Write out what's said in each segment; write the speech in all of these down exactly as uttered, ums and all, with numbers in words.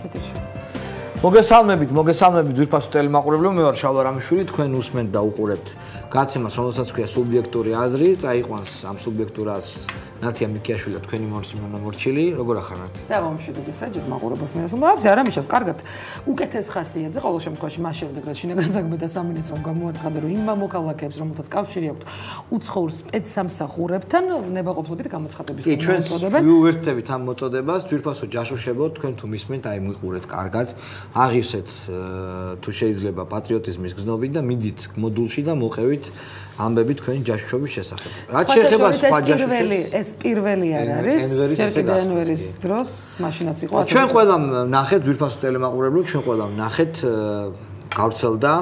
ეთერში. მოგესალმებით, მოგესალმებით ძვირფასო ტელემაყურებლებო, მე ვარ შალვა რამიშვილი, თქვენ უსმენთ და უყურებთ გაცემას, რომელსაც ქვია სუბიექტური აზრი, წაიყვანს ამ სუბიექტურ აზრს ნათია მიქიაშვილი და თქვენი მორწმუნე მორჩილი, როგორ ახარ ნათია? საღამოშვიდობის საჯერ მაყურებელს მერასულებს, არა მიშას, კარგად. უკეთეს ხასიათზე ყოველ შემთხვევაში მას შემდეგ რაც შინაგან საქმეთა სამინისტრომ გამოაცხადა, რომ იმ მოქალაქეებს, რომელთაც კავშირი აქვთ უცხოურ სპეცსამსახურებთან, ნებაყოფლობით გამოცხადების გამოწოდებენ. კი, ჩვენ ვიუერთდებით ამ მოწოდებას, ძვირფასო ჯაშუშებო, თქვენ თუ მისმენთ, აი მიყურეთ კარგად. აღივსეთ თუ შეიძლება პატრიოტიზმის გზნობით და მიდით მოდულში და მოყევით ამბები თქვენი ჯაშუშობის შესახებ. რაც შეეხება სხვა ჯაშუშებს, ეს პირველი არ არის. ენვერის დროს მაშინაც იყო ასე. ჩვენ ყველა ნახეთ ძვირფასო ტელემაყურებლებს, ჩვენ ყველა ნახეთ გავრცელდა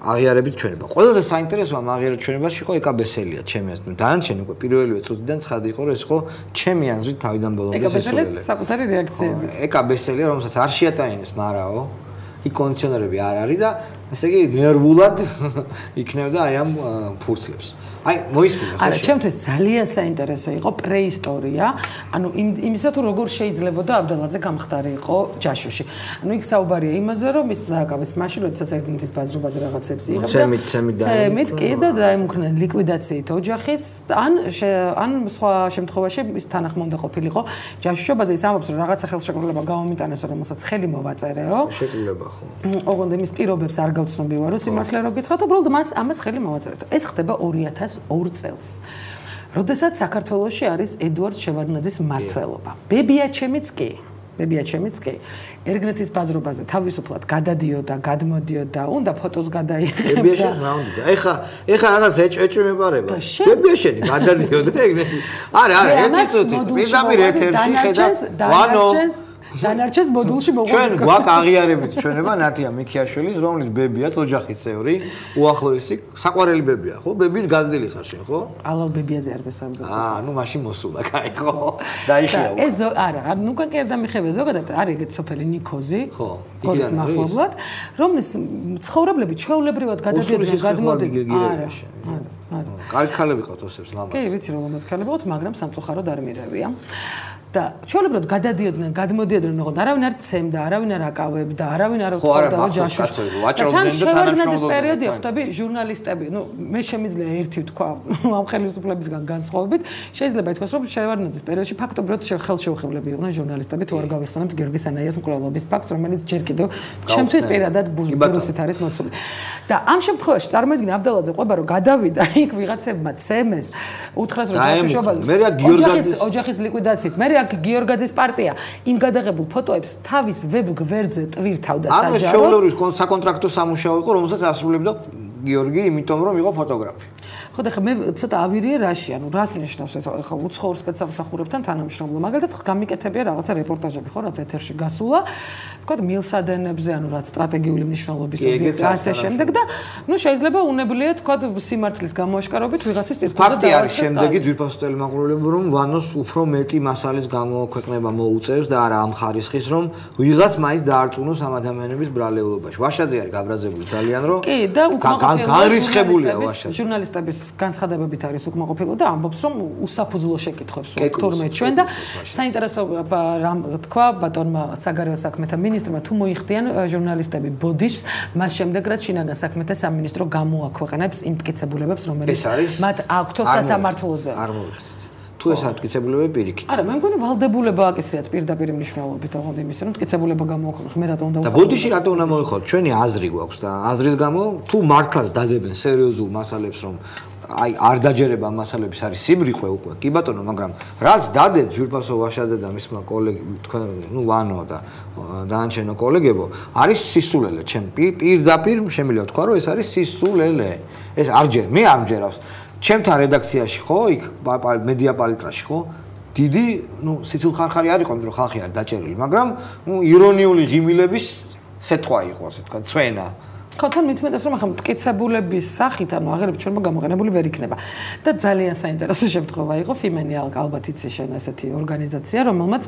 აღიარებით ჩვენება. ყველაზე საინტერესოა აღიარებით ჩვენებაში იყო ეკაბესელია, ჩემი აზრით. დანარჩენი უკვე პირველივე წუთიდან ცხადი იყო, რომ ეს იყო ჩემი აზრით თავიდან ბოლომდე ესულელი. ეკაბესელია საკუთარი რეაქციები. ეკაბესელია, რომელსაც არ შეატანინეს მარაო. იქ კონდიციონერები არ არის და ესე იგი ნერვულად იქნებოდა აი ამ ფურცლებს. აი მოისმინე ხო? არა, ჩემთვის ძალიან საინტერესო იყო პრეისტორია, ანუ იმისა თუ როგორ შეიძლებოდა აბდალაძე გამხდარი იყო ჯაშუში. ანუ იქ საუბარია იმაზე, რომ ის დააკავეს მაშინ, როდესაც ეგნეთის ბაზრობაზე რაღაცებს იღებდა. ცემით, ცემით და ცემით კი და დაემუქრნენ ლიკვიდაციით ოჯახის, ან ან სხვა შემთხვევაში ის თანახმოვანდა ყოფილიყო ჯაშუშობაზე. ის ამბობს, რომ რაღაცა ხელშეკრულება გამომიტანეს, რომელსაც ხელი მოვაწერეო. შეკრულება ხო. ოღონდ იმის პირობებს არ გავცნობივარო სიმართლე რო გითხრათ, უბრალოდ მას ამას ხელი მოვაწერეთ. ეს ხდება ორი ათას ორ წელს. როდესაც საქართველოში არის ედუარდ შევარდნაძის მმართველობა. ბებია ჩემიც კი, ბებია ჩემიც კი. ერგნეთის ბაზრობაზე თავისუფლად გადადიოდა, გადმოდიოდა, უნდა ფოტოს გადაიღებდა. ბებია შენს რა უნდა? ეხა, ეხა რაღაც ეჭვეჭვე მეპარება. ბებია შენი გადადიოდა ერგნეთის. არა, არა, ერთი წუთი. პირდაპირ ეთერში ხედავ. ვანო დანარჩენს მოდულში მოყვება. ჩვენ გვაქვს აღიარებით ჩვენება ნათია მიქიაშვილის, რომლის ბებიაც ოჯახის წევრი, უახლოესი საყვარელი ბებია, ხო? ბების გაზრდილი ხარ შენ, ხო? ალალ ბებიაზე არ ვესაუბრებ. აა, ნუ მაშინ მოსულა, კაი, ხო? დაიხია. ეს არა, ნუ კენ და მიხევია ზოგადად არის ეგეთ სოფელი ნიქოზი, ხო? გოლის მახლობლად, რომლის ცხოვრებლები ჩვეულებრივად გადადიოდნენ, გადმოდიოდნენ. არა, არა, არა. კარგი ქალები ყავთ ოსებს ლამაზ. კი, ვიცი რომ ლამაზ ქალები ყავთ, მაგრამ სამწუხაროდ არ მირევია. და ჩვეულებრივად გადადიოდნენ, გადმოდიოდნენ, ოღონდ არავინ არ ცემდა, არავინ არ აკავებდა, არავინ არ უთხოვდა ჯაშუშს. ვაჭრობდნენ და თანამშრომლობდნენ. პერიოდი ხვდები ჟურნალისტები, ნუ მე შემიძლია ერთი ვთქვა ამ ხელისუფლებისგან განსხვავებით, შეიძლება ითქვას, რომ შევარდნაძის პერიოდში ფაქტობრივად ხელშეუხებლები იყვნენ ჟურნალისტები, თუ არ გავიხსენებთ გიორგი სანაიას მკვლელობის ფაქტს, რომელიც ჯერ კიდევ ჩემთვის პირადად ბურუსით არის მოცული. და ამ შემთხვევაში წარმოიდგინე აბდალაძე ყვება, რომ გადავიდა იქ ვიღაცებმა ცემეს, უთხრას რომ ჯაშუშობა ოჯახის ოჯახის ლიკვიდაციით, მე გიორგაძის პარტია იმ გადაღებულ ფოტოებს თავის ვებ გვერდზე ტვირთავდა საჯაროდ. ანუ შეუძლებელი საკონტრაქტო სამუშაო იყო, რომელსაც ასრულებდა გიორგი, იმიტომ რომ იყო ფოტოგრაფი. ხო და ხა მე ცოტა ავირიე რაში, ანუ რას ნიშნავს ეს ხა უცხოურ სპეცსამსახურებთან თანამშრომლობა. მაგალითად გამიკეთებია რაღაცა რეპორტაჟები, ხო, რაც ეთერში გასულა. თქვა მილსადენებზე, ანუ რაც სტრატეგიული მნიშვნელობის ობიექტი ასე შემდეგ და ნუ შეიძლება უნებლიე თქვა სიმართლის გამოაშკარებით ვიღაცის წესზე დავარცხეს. ფაქტი არის შემდეგი ძვირფასო ტელემაყურებლებო, რომ ვანოს უფრო მეტი მასალის გამოქვეყნება მოუწევს და არა ამ ხარისხის, რომ ვიღაც მაინც დაარწმუნოს ამ ადამიანების ბრალეულობაში. ვაშაძე არის გაბრაზებული ძალიან, რომ კი და განრისხებულია ვაშაძე. ჟურნალისტების განცხადებებით არის უკმაყოფილო და ამბობს რომ უსაფუძვლო შეკითხვებს თორმეტ ჩვენ და საინტერესო რამ თქვა ბატონმა საგარეო საქმეთა მინისტრმა თუ მოიხდიან ჟურნალისტები ბოდიშს მას შემდეგ რაც შინაგან საქმეთა სამინისტრო გამოაქვეყნებს იმ მტკიცებულებებს რომელიც მათ აქვთ სასამართლოზე. არ მოვიხდით. თუ ეს არ მტკიცებულებები პირიქით. არა, მე მგონი ვალდებულება აკისრიათ პირდაპირ მნიშვნელობით, ოღონდ იმის რომ მტკიცებულება გამოაქვეყნოს, მე რატომ უნდა და ბოდიში რატომ უნდა მოიხოთ? ჩვენი აზრი გვაქვს და აზრის გამო თუ მართლაც დადებენ სერიოზულ მასალებს რომ აი არ დაჯერება მასალების არის სიბრიყვე უკვე კი ბატონო მაგრამ რაც დადეთ ძვირფასო ვაშაძე და მისმა კოლეგები თქვენ ნუ ვანო და დანარჩენო კოლეგებო არის სისულელე ჩემ პირდაპირ შემიძლია თქვა რომ ეს არის სისულელე ეს არ ჯერ მე არ მჯერავს ჩემთან რედაქციაში ხო იქ მედია პალიტრაში ხო დიდი ნუ სიცილხარხარი არ იყო იმიტომ რომ ხალხი არ დაჭერილი მაგრამ ნუ ირონიული ღიმილების სეტყვა იყო ასე თქვა ცვენა ხო თან მitmetes რომ ახლა მტკიცებულების სახით ანუ აღერები ჩვენმა გამოყენებული ვერ იქნება და ძალიან საინტერესო შემთხვევა იყო ფიმენი ალბათ იცი შენ ესეთი ორგანიზაცია რომელმაც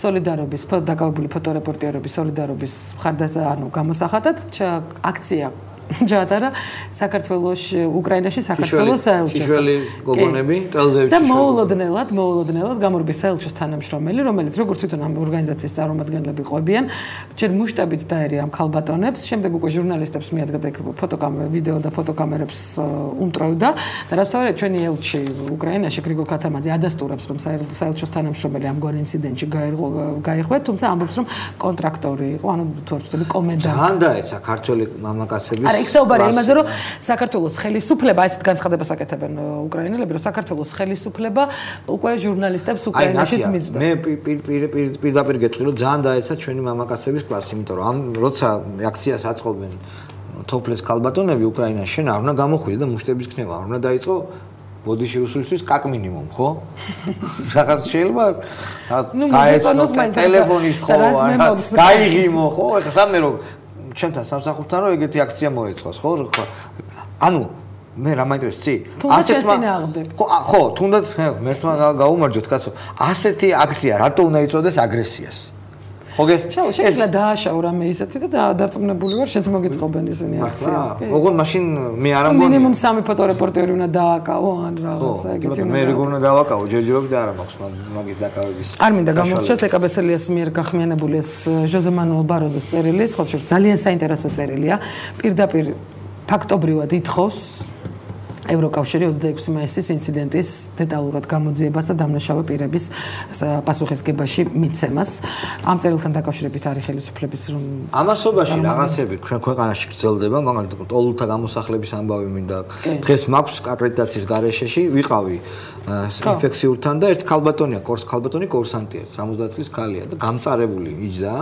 სოლიდარობის დაკავებული ფოტორეპორტიორების სოლიდარობის მხარდასა ანუ გამოსახატად აქცია ჯადარა საქართველოს უკრაინაში საქართველოს საელჩოს. იშველი გოგონები ტელზევიჩი. და მოულოდნელად, მოულოდნელად გამორბის საელჩოს თანამშრომელი, რომელიც როგორც თვითონ ამ ორგანიზაციის წარმომადგენლები ყვებიან, ჯერ მუშტებით დაერია ამ ქალბატონებს, შემდეგ უკვე ჟურნალისტებს მიადგა იქ ფოტოკამერა, ვიდეო და ფოტოკამერებს უმტრავდა და რაც თავად ჩვენი ელჩი უკრაინაში გრიგოლ ქათამაძე ადასტურებს, რომ საელჩოს თანამშრომელი ამგვარ ინციდენტში გაიხვეათ, თუმცა ამბობს, რომ კონტრაქტორი იყო, ანუ თუ არ ვცდები კომენდანტი. ძალიან დაეცა ქართველი მამაკაცების. არა, იქ საუბარია იმაზე, რომ საქართველოს ხელისუფლება ესეთ განცხადებას აკეთებენ უკრაინელები, რომ საქართველოს ხელისუფლება უკვე ჟურნალისტებს უკრაინაშიც მისდევს. მე პირდაპირ გეტყვი, რომ ძალიან დაეცა ჩვენი მამაკაცების კლასი, იმიტომ რომ ამ როცა აქციას აწყობენ თოფლეს ქალბატონები უკრაინაში, შენ არ უნდა გამოხვიდე და მუშტების ქნება, არ უნდა დაიწყო ბოდიში რუსულისთვის კაკ მინიმუმ, ხო? რაღაც შეიძლება გაეცნო ტელეფონის ხო, გაიღიმო, ხო? ეხლა სამდე რომ ჩვენთან სამსახურთან რომ ეგეთი აქცია მოეწყოს, ხო? ანუ მე რა მაინტერესებს, ასეთმა ხო, ხო, თუნდაც მერთმა გაუმარჯოთ, კაცო. ასეთი აქცია რატო უნდა იწოდეს აგრესიას? ხო გესმის? შეიძლება დააშაო რამე ისეთი და დარწმუნებული ვარ, შეც მოგიწყობენ ისინი აქციას, კი? ოღონდ მაშინ მე არ ამბობ. მინიმუმ სამი ფოტორეპორტერი უნდა დააკავო ან რაღაცა ეგეთი უნდა. მე როგორ უნდა დავაკავო, ჯერჯერობით არ მაქვს მაგის დაკავების. არ მინდა გამორჩეს ეკაბესელიას მიერ გახმიანებული ეს ჟოზე მანუელ ბაროზეს წერილი, სხვა შორის ძალიან საინტერესო წერილია. პირდაპირ ფაქტობრივად ითხოვს ევროკავშირი ოცდაექვსი მაისის ინციდენტის დეტალურად გამოძიებას და დამნაშავე პირების პასუხისგებაში მიცემას. ამ წერილთან დაკავშირებით არის ხელისუფლების რომ ამასობაში რაღაცები ჩვენ ქვეყანაში გრძელდება, მაგალითად ტოლულთა გამოსახლების ამბავი მინდა. დღეს მაქვს აკრედიტაციის გარეშეში ვიყავი ინფექციურთან და ერთ ქალბატონია, კორს ქალბატონი კურსანტია, სამოცდაათ წლის ქალია და გამწარებული იჯდა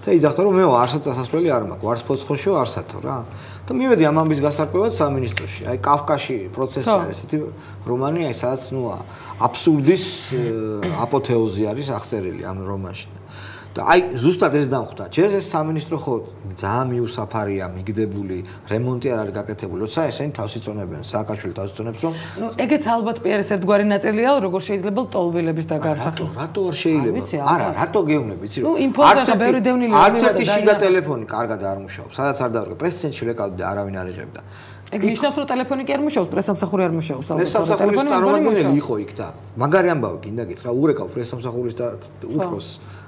და იძახდა რომ მე არსაც წასასვლელი არ მაქვს, ვარს ფოცხოშიო არსათო რა. და მივედი ამ ამბის გასარკვევად სამინისტროში. აი კავკასში პროცესი არის ესეთი რომანი, აი სადაც ნუ აბსურდის აპოთეოზი არის აღწერილი ამ რომანში. და აი ზუსტად ეს დამხვდა. ჯერ ეს სამინისტრო ხო ძალიან მიუსაფარია, მიგდებული, რემონტი არ არის გაკეთებული. როცა ესენი თავს იწონებენ, სააკაშვილი თავს იწონებს რომ ნუ ეგეც ალბათ პიარის ერთგვარი ნაწილია, როგორ შეიძლება ტოლვილების დაგარსახვა. რატო არ შეიძლება? არა, რატო გეუბნები, იცი რომ არც ერთი შიგა ტელეფონი კარგად არ მუშაობს. სადაც არ დავარგე, პრესცენტრში რეკავდი და არავინ არ იღებდა. ეგ ნიშნავს რომ ტელეფონი კი არ მუშაობს, პრესამსახური არ მუშაობს. პრესამსახურის წარმომადგენელი იყო იქ და მაგარი ამბავი გინდა გითხრა, ურეკავ პრესამსახურის და უფროს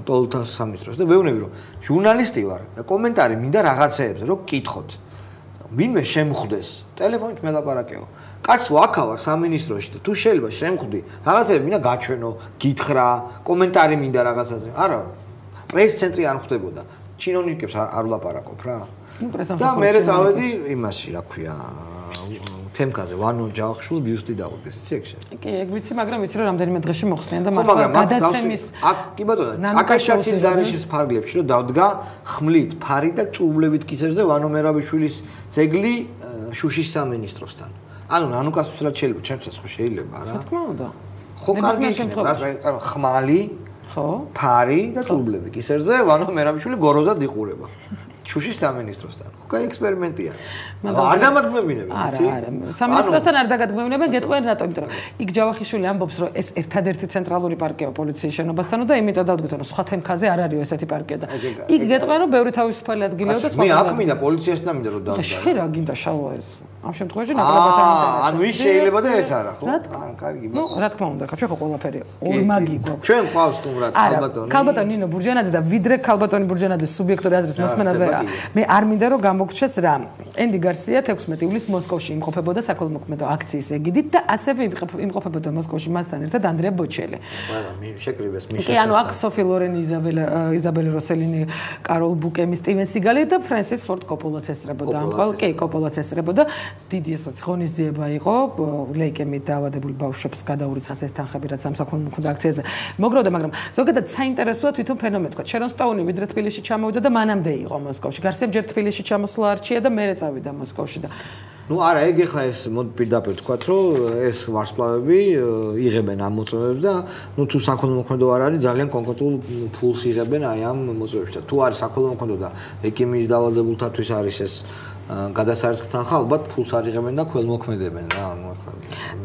ტოლთა სამინისტროს და ვეუბნები რომ ჟურნალისტი ვარ და კომენტარი მინდა რაღაცეებზე რომ გკითხოთ. ვინმე შემხვდეს, ტელეფონით მელაპარაკეო. კაც ვაქავარ სამინისტროში და თუ შეიძლება შემხვდი, რაღაცეები მინდა გაჩვენო, გითხრა, კომენტარი მინდა რაღაცაზე. არა, პრეს-ცენტრი არ ხვდებოდა. ჩინოვნიკებს არ ვლაპარაკობ რა. ნუ პრესამსახური. და მე წავედი იმაში, რა ქვია, თემკაზე ვანო ჯავახიშვილს ბიუსტი დაუდგეს, იცი ეგ შენ. კი, ეგ ვიცი, მაგრამ ვიცი რომ რამდენიმე დღეში მოხსნიან და მართლა გადაცემის აქ კი ბატონო, აკაშაჩის გარიშის ფარგლებში რომ დავდგა ხმლით, ფარი და წუბლებით კისერზე ვანო მერაბიშვილის ძეგლი შუშის სამინისტროსთან. ანუ ნანუკას რა შეიძლება, ჩემსაც ხო შეიძლება რა. თქმა უნდა. ხო კარგი იქნება, ხმალი, ხო, ფარი და წუბლები კისერზე ვანო მერაბიშვილი გოროზად იყურება. შუშის სამინისტროსთან. ხო, კაი ექსპერიმენტია. არ დამადგმებინებენ, იცი? არა, არა. სამინისტროსთან არ დაგადგმებინებენ, გეტყვიან რატო, იმიტომ რომ იქ ჯავახიშვილი ამბობს, რომ ეს ერთადერთი ცენტრალური პარკია პოლიციის შენობასთანო და იმით დავდგეთ, რომ სხვა თემქაზე არ არისო ესეთი პარკია და იქ გეტყვიან, რომ ბევრი თავისუფალი ადგილია და სხვა. მე აქ მინდა პოლიციასთან მინდა რომ დავდგა. შენ რა გინდა შალვა ეს? ამ შემთხვევაში ნაკლებად ამიტომ. ანუ ის შეიძლება და ეს არა, ხო? არა, კარგი. ნუ, რა თქმა უნდა, ხო, ჩვენ ხო ყველაფერი ორმაგი გვაქვს. ჩვენ ყავს თუმრად ქალბატონი. ქალბატონი ნინო ბურჯანაძე და ვიდრე ქალბატონი ბურჯანაძის სუბიექტური აზრის მოსმენაზე მე არ მინდა რომ გამოგჩეს რა. ენდი გარსია თექვსმეტი ივლისს მოსკოვში იმყოფებოდა საქველმოქმედო აქციის ეგიდით და ასევე იმყოფებოდა მოსკოვში მასთან ერთად ანდრია ბოჩელი. არა, მე შეკრიბეს მიშა. კი, ანუ აქ სოფი ლორენი, იზაბელა იზაბელი როსელინი, კაროლ ბუკემი, სტივენ სიგალი და ფრენსის ფორდ კოპოლაც ესწრებოდა. ამ ყოველ კი კოპოლაც ესწრებოდა. დიდი ესეთ ღონისძიება იყო ლეიკემით დაავადებული ბავშვებს გადაურიცხეს ეს თანხები რაც ამ საქველმოქმედო აქციაზე მოგროვდა, მაგრამ ზოგადად საინტერესოა თვითონ ფენომენი თქვა. შერონ სტოუნი ვიდრე თბილისში ჩამოვიდა და მანამდე იყო მოსკოვში. გარსიამ ჯერ თბილისში ჩამოსვლა არჩია და მერე წავიდა მოსკოვში და ნუ არა, ეგ ეხლა ეს მოდი პირდაპირ თქვათ, რომ ეს ვარსკვლავები იღებენ ამ მოწვევებს და ნუ თუ საქველმოქმედო არ არის, ძალიან კონკრეტულ ფულს იღებენ აი ამ მოწვევებში და თუ არის საქველმოქმედო და ეკიმის დაავადებულთათვის არის ეს გადასარცხთან ხა ალბათ ფულს არიღებენ და ქველმოქმედებენ რა ანუ ახლა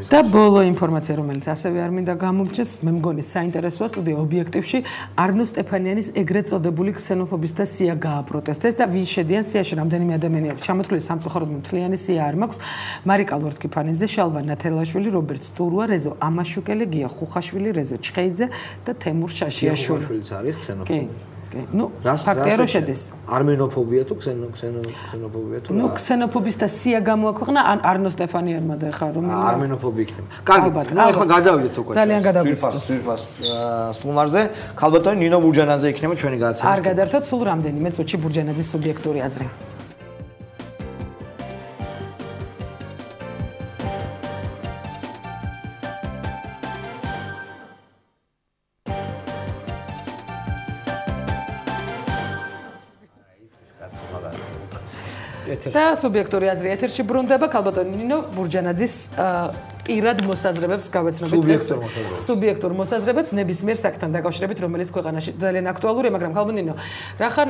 და ბოლო ინფორმაცია რომელიც ასევე არ მინდა გამომჩეს მე მგონი საინტერესოა სტუდია ობიექტივში არნო სტეფანიანის ეგრეთ წოდებული ქსენოფობის და სია გააპროტესტეს და ვინ შედიან სიაში რამდენიმე ადამიანი არის ჩამოთვლილი სამწუხაროდ მთლიანი სია არ მაქვს მარიკა ლორთქიფანიძე შალვა ნათელაშვილი რობერტ სტურუა რეზო ამაშუკელი გია ხუხაშვილი რეზო ჩხეიძე და თემურ შაშიაშვილი ხუხაშვილიც არის ქსენოფობი კი, ну, ფაქტია რომ შედის. არმენოფობია თუ ქსენო ქსენო ქსენოფობია თუ? ну, ქსენოფობის და სია გამოაქვეყნა არნო სტეფანიანმა და ხა რომ არმენოფობი იქნება. კარგი, ну, ახლა გადავიდეთ უკვე. ძალიან გადავიდეთ. სვირფას სტუმარზე, ქალბატონი ნინო ბურჯანაძე იქნება ჩვენი გადაცემა. არ გადართოთ სულ რამდენიმე წუთში ბურჯანაძის სუბიექტური აზრი. და სუბიექტური აზრი ეთერში ბრუნდება ქალბატონი ნინო ბურჯანაძის პირად მოსაზრებებს გავეცნობით სუბიექტურ მოსაზრებებს ნებისმიერ საკთან დაკავშირებით რომელიც ქვეყანაში ძალიან აქტუალურია მაგრამ ქალბატონი ნინო რახან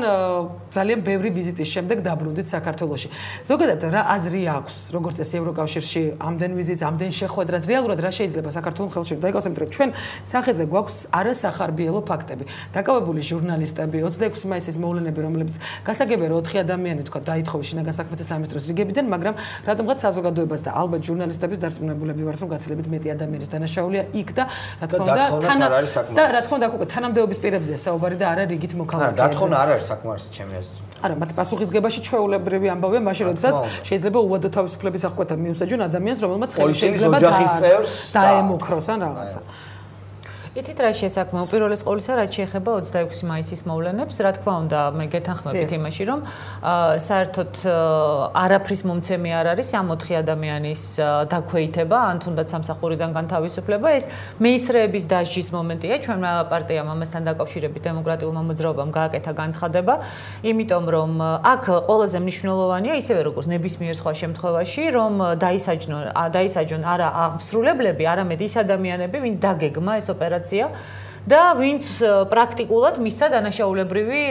ძალიან ბევრი ვიზიტის შემდეგ დაბრუნდით საქართველოში ზოგადად რა აზრი აქვს როგორც წესი ევროკავშირში ამდენ ვიზიტს ამდენ შეხვედრას რეალურად რა შეიძლება საქართველოს ხელში დაიგოს იმიტომ რომ ჩვენ სახეზე გვაქვს არასახარბიელო ფაქტები დაკავებული ჟურნალისტები ოცდაექვსი მაისის მოვლენები რომლებიც გასაგებია რომ ოთხი ადამიანი თქვა დაითხოვა შინაგან საქმეთა სამინისტროს რიგებიდან მაგრამ რატომღაც საზოგადოებას და ალბათ ჟურნალისტების დარწმუნებულები ვართ რომ გაცილებით მეტი ადამიანის დანაშაულია იქ და რა თქმა უნდა და რა თქმა უნდა უკვე თანამდებობის პირებზეა საუბარი და არა რიგით მოქალაქეებზე. არა, დათხოვნა არ არის საკმარისი ჩემი აზრით. არა, მათ პასუხისგებაში ჩვეულებრივი ამბავია მაშინ როდესაც შეიძლება უვადო თავისუფლების აღკვეთა მიუსაჯონ ადამიანს რომელმაც ხელი შეიძლება დაემუქროს ან რაღაცა. იცით რა შესაქმეო პირველის ყოვლისა რაც შეეხება ოცდაექვსი მაისის მოვლენებს რა თქმა უნდა მე გეთანხმებით იმაში რომ საერთოდ არაფრის მომცემი არ არის ამ ოთხი ადამიანის დაქვეითება ან თუნდაც სამსახურიდან განთავისუფლება ეს მეისრეების დასჯის მომენტია ჩვენმა პარტიამ ამასთან დაკავშირებით დემოკრატიულმა მოძრაობამ გააკეთა განცხადება იმიტომ რომ აქ ყველაზე მნიშვნელოვანია ისევე როგორც ნებისმიერ სხვა შემთხვევაში რომ დაისაჯნონ დაისაჯონ არა აღმსრულებლები არამედ ის ადამიანები ვინც დაგეგმა ეს ოპერაცია და ვინც პრაქტიკულად მისცა დანაშაულებრივი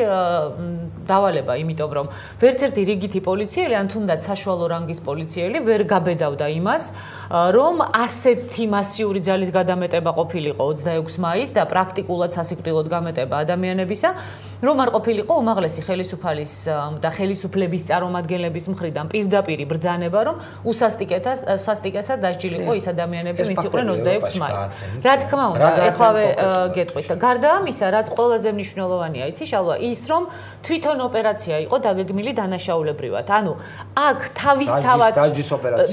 დავალება, იმიტომ რომ ვერც ერთი რიგითი პოლიციელი ან თუნდაც საშუალო რანგის პოლიციელი ვერ გაბედავდა იმას, რომ ასეთი მასიური ძალის გადამეტება ყოფილიყო ოცდაექვსი მაისს და პრაქტიკულად სასიკვდილოდ გამეტება ადამიანებისა, რომ არ ყოფილიყო უმაღლესი ხელისუფალის და ხელისუფლების წარმომადგენლების მხრიდან პირდაპირი ბრძანება, რომ უსასტიკესად დასჯილიყო ის ადამიანები, ვინც იყვნენ ოცდაექვსი მაისს. რა თქმა უნდა, ეხლავე გეტყვით და გარდა ამისა, რაც ყველაზე მნიშვნელოვანია, იცი შალვა, ის რომ თვითონ ოპერაცია იყო დაგეგმილი დანაშაულებრივად. ანუ აქ თავისთავად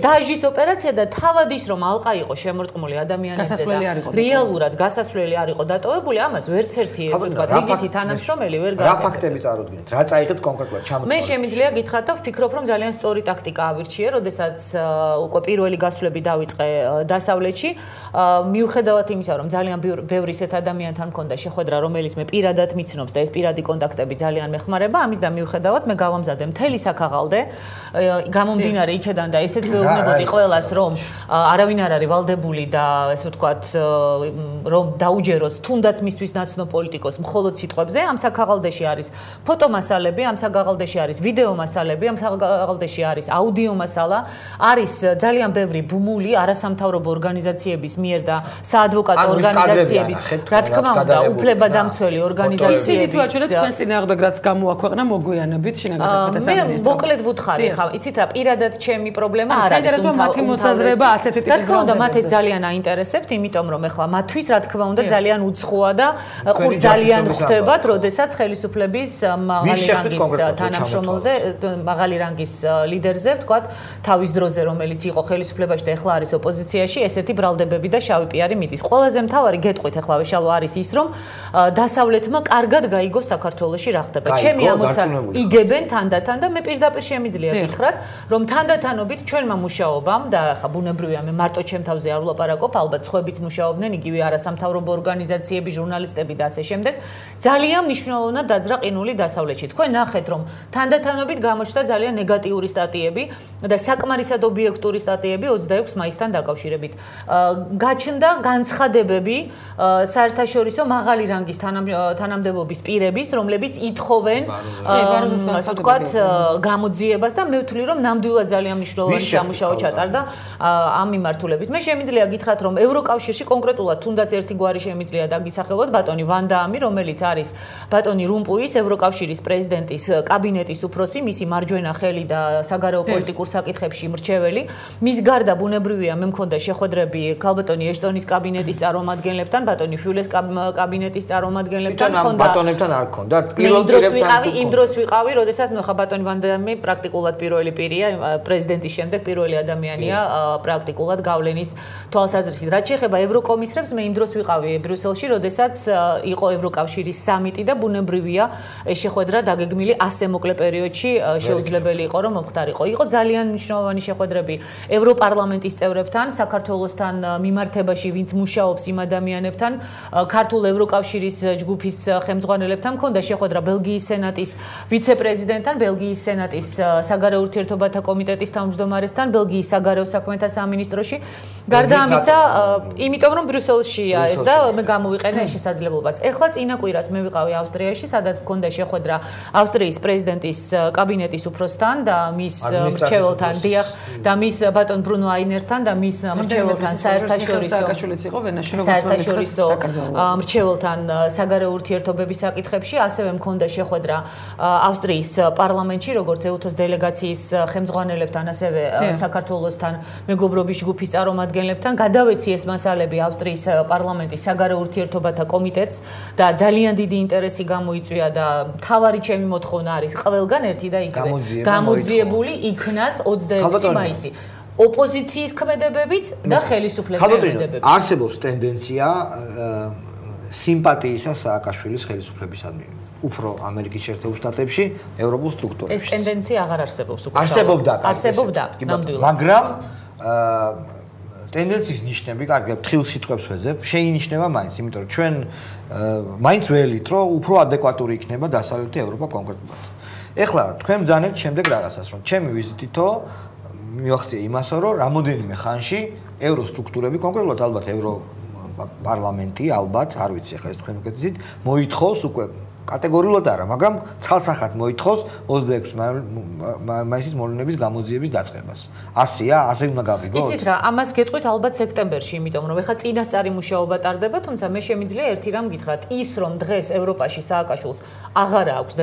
დასჯის ოპერაცია და თავად ის რომ ალყა იყო შემორტყმული ადამიანებზე და რეალურად გასასვლელი არ იყო დატოვებული, ამას ვერც ერთი ესე ვთქვათ, რიგითი თანამშრომელი ვერ გააკეთა. რა ფაქტებიც არ უდგინეთ? რა წაიღეთ კონკრეტულად ჩამოთვალეთ? მე შემიძლია გითხრათ და ვფიქრობ, რომ ძალიან სწორი ტაქტიკა ავირჩიე, როდესაც უკვე პირველი გასვლები დავიწყე დასავლეთში, მიუხედავად იმისა, რომ ძალიან ბევრი ისეთ ადამიანთან მქონდა შეხვედრა, რომელიც მე პირადად მიცნობს და ეს პირადი კონტაქტები ძალიან მეხმარება, ამის და მიუხედავად მე გავამზადე მთელი საქაღალდე, გამომდინარე იქედან და ესეც ვეუბნებოდი ყველას, რომ არავინ არ არის ვალდებული და ესე ვთქვათ, რომ დაუჯეროს თუნდაც მისთვის ნაცნობ პოლიტიკოს მხოლოდ სიტყვებზე, ამ საქაღალდეში არის ფოტომასალები, ამ საქაღალდეში არის ვიდეო მასალები, ამ საქაღალდეში არის აუდიო მასალა, არის ძალიან ბევრი ბმული არასამთავრობო ორგანიზაციების მიერ და საადვოკატო ორგანიზაციების, რა თქმა უნდა, უფლებადამცველი ორგანიზაციების თუ აჩვენეთ თქვენს წინააღმდეგ რაც გამოაქვეყნა მოგვიანებით შინაგან საქმეთა სამინისტრო. მე მოკლედ ვუთხარი ხა, იცით რა, პირადად ჩემი პრობლემა არ არის. საინტერესოა მათი მოსაზრება ასეთი ტიპის. რა თქმა უნდა, მათ ეს ძალიან აინტერესებთ, იმიტომ რომ ეხლა მათთვის რა თქმა უნდა ძალიან უცხოა და ყურს ძალიან ხვდებათ, როდესაც ხელისუფლების მაღალი რანგის თანამშრომელზე, მაღალი რანგის ლიდერზე, ვთქვათ, თავის დროზე რომელიც იყო ხელისუფლებაში და ეხლა არის ოპოზიციაში, ესეთი ბრალდებები და შავი პიარი მიდის. ყველაზე მთავარი გეტყვით ეხლა შალვა არის ის, რომ დასავლეთმა კარგად გაიგოს საქართველოში რა ხდება. ჩემი ამოცანა იგებენ თანდათან და მე პირდაპირ შემიძლია გითხრათ, რომ თანდათანობით ჩვენმა მუშაობამ და ხა ბუნებრივია მე მარტო ჩემ თავზე არ ვლაპარაკობ, ალბათ სხვაებიც მუშაობდნენ, იგივე არასამთავრობო ორგანიზაციები, ჟურნალისტები და ასე შემდეგ. ძალიან მნიშვნელოვანია მნიშვნელოვნად დაძრა ყინული დასავლეთში. თქვენ ნახეთ, რომ თანდათანობით გამოჩნდა ძალიან ნეგატიური სტატიები და საკმარისად ობიექტური სტატიები ოცდაექვსი მაისთან დაკავშირებით. გაჩნდა განცხადებები საერთაშორისო მაღალი რანგის თანამდებობის პირების, რომლებიც ითხოვენ ასე ვთქვათ გამოძიებას და მე ვთვლი, რომ ნამდვილად ძალიან მნიშვნელოვანი სამუშაო ჩატარდა ამ მიმართულებით. მე შემიძლია გითხრათ, რომ ევროკავშირში კონკრეტულად თუნდაც ერთი გვარი შემიძლია დაგისახელოთ ბატონი ვან დაამი, რომელიც არის ბატონი რუმპუის ევროკავშირის პრეზიდენტის კაბინეტის უფროსი, მისი მარჯვენა ხელი და საგარეო პოლიტიკურ საკითხებში მრჩეველი. მის გარდა ბუნებრივია მე მქონდა შეხვედრები ქალბატონი ეშტონის კაბინეტის წარმომადგენლებთან, ბატონი ფიულეს კაბინეტის წარმომადგენლებთან, მქონდა ბატონებთან არ მქონდა. პირველ პირებთან იმ დროს ვიყავი, როდესაც ნუ ხა ბატონი ვან დაამი პრაქტიკულად პირველი პირია, პრეზიდენტის შემდეგ პირველი ადამიანია პრაქტიკულად გავლენის თვალსაზრისით. რაც შეეხება ევროკომისრებს, მე იმ დროს ვიყავი ბრიუსელში, როდესაც იყო ევროკავშირის სამიტი და ბუნებრივია ეს შეხვედრა დაგეგმილი ასე მოკლე პერიოდში შეუძლებელი იყო რომ მომხდარიყო. იყო ძალიან მნიშვნელოვანი შეხვედრები ევროპარლამენტის წევრებთან, საქართველოსთან მიმართებაში, ვინც მუშაობს იმ ადამიანებთან, ქართულ ევროკავშირის ჯგუფის ხელმძღვანელებთან. მქონდა შეხვედრა ბელგიის სენატის ვიცე-პრეზიდენტთან, ბელგიის სენატის საგარეო ურთიერთობათა კომიტეტის თავმჯდომარესთან, ბელგიის საგარეო საქმეთა სამინისტროში. გარდა ამისა, იმიტომ რომ ბრიუსელშია ეს და მე გამოვიყენე ეს შესაძლებლობაც. ეხლა წინა კვირას მე ვიყავი ავსტრიაში, სადაც მქონდა შეხვედრა ავსტრიის პრეზიდენტის კაბინეტის უფროსთან და მის მრჩეველთან, დიახ, და მის ბატონ ბრუნო აინერთან და მის მრჩეველთან საერთაშორისო საერთაშორისო მრჩეველთან საგარეო ურთიერთობების საკითხებში, ასევე მქონდა შეხვედრა ავსტრიის პარლამენტში, როგორც ეუთოს დელეგაციის ხელმძღვანელებთან, ასევე საქართველოსთან მეგობრობის ჯგუფის წარმომადგენლებთან. გადავეცი ეს მასალები ავსტრიის პარლამენტის საგარეო ურთიერთობათა კომიტეტს და ძალიან დიდი ინტერესი გამოიწვია და მთავარი ჩემი მოთხოვნა არის ყველგან ერთი და იგივე გამოძიებული იქნას ოცდაექვსი მაისი. ოპოზიციის ქმედებებიც და ხელისუფლების ქმედებებიც. არსებობს ტენდენცია სიმპათიისა სააკაშვილის ხელისუფლებისადმი. უფრო ამერიკის შეერთებულ შტატებში, ევროპულ სტრუქტურებში. ეს ტენდენცია აღარ არსებობს უკვე. არსებობდა, არსებობდა, ნამდვილად. მაგრამ ტენდენციის ნიშნები, კარგი, თხილ სიტყვებს ვეძებ, შეინიშნება მაინც, იმიტომ რომ ჩვენ მაინც ველით, რომ უფრო ადეკვატური იქნება დასავლეთი ევროპა კონკრეტულად. ეხლა თქვენ ბრძანებთ შემდეგ რაღაცას, რომ ჩემი ვიზიტითო მივახციე იმასო, რომ რამოდენიმე ხანში ევროსტრუქტურები, კონკრეტულად ალბათ ევრო პარლამენტი, ალბათ, არ ვიცი ახლა ეს თქვენ უკეთესით, მოითხოვს უკვე კატეგორიულად არა, მაგრამ ცალსახად მოითხოვს ოცდაექვსი მაისის მოვლენების გამოძიების დაწყებას. ასია, ასე უნდა გავიგოთ? იცით რა, ამას გეტყვით ალბათ სექტემბერში, იმიტომ რომ ეხლა წინასწარი მუშაობა ტარდება, თუმცა მე შემიძლია ერთი რამ გითხრათ, ის რომ დღეს ევროპაში სააკაშვილს აღარ აქვს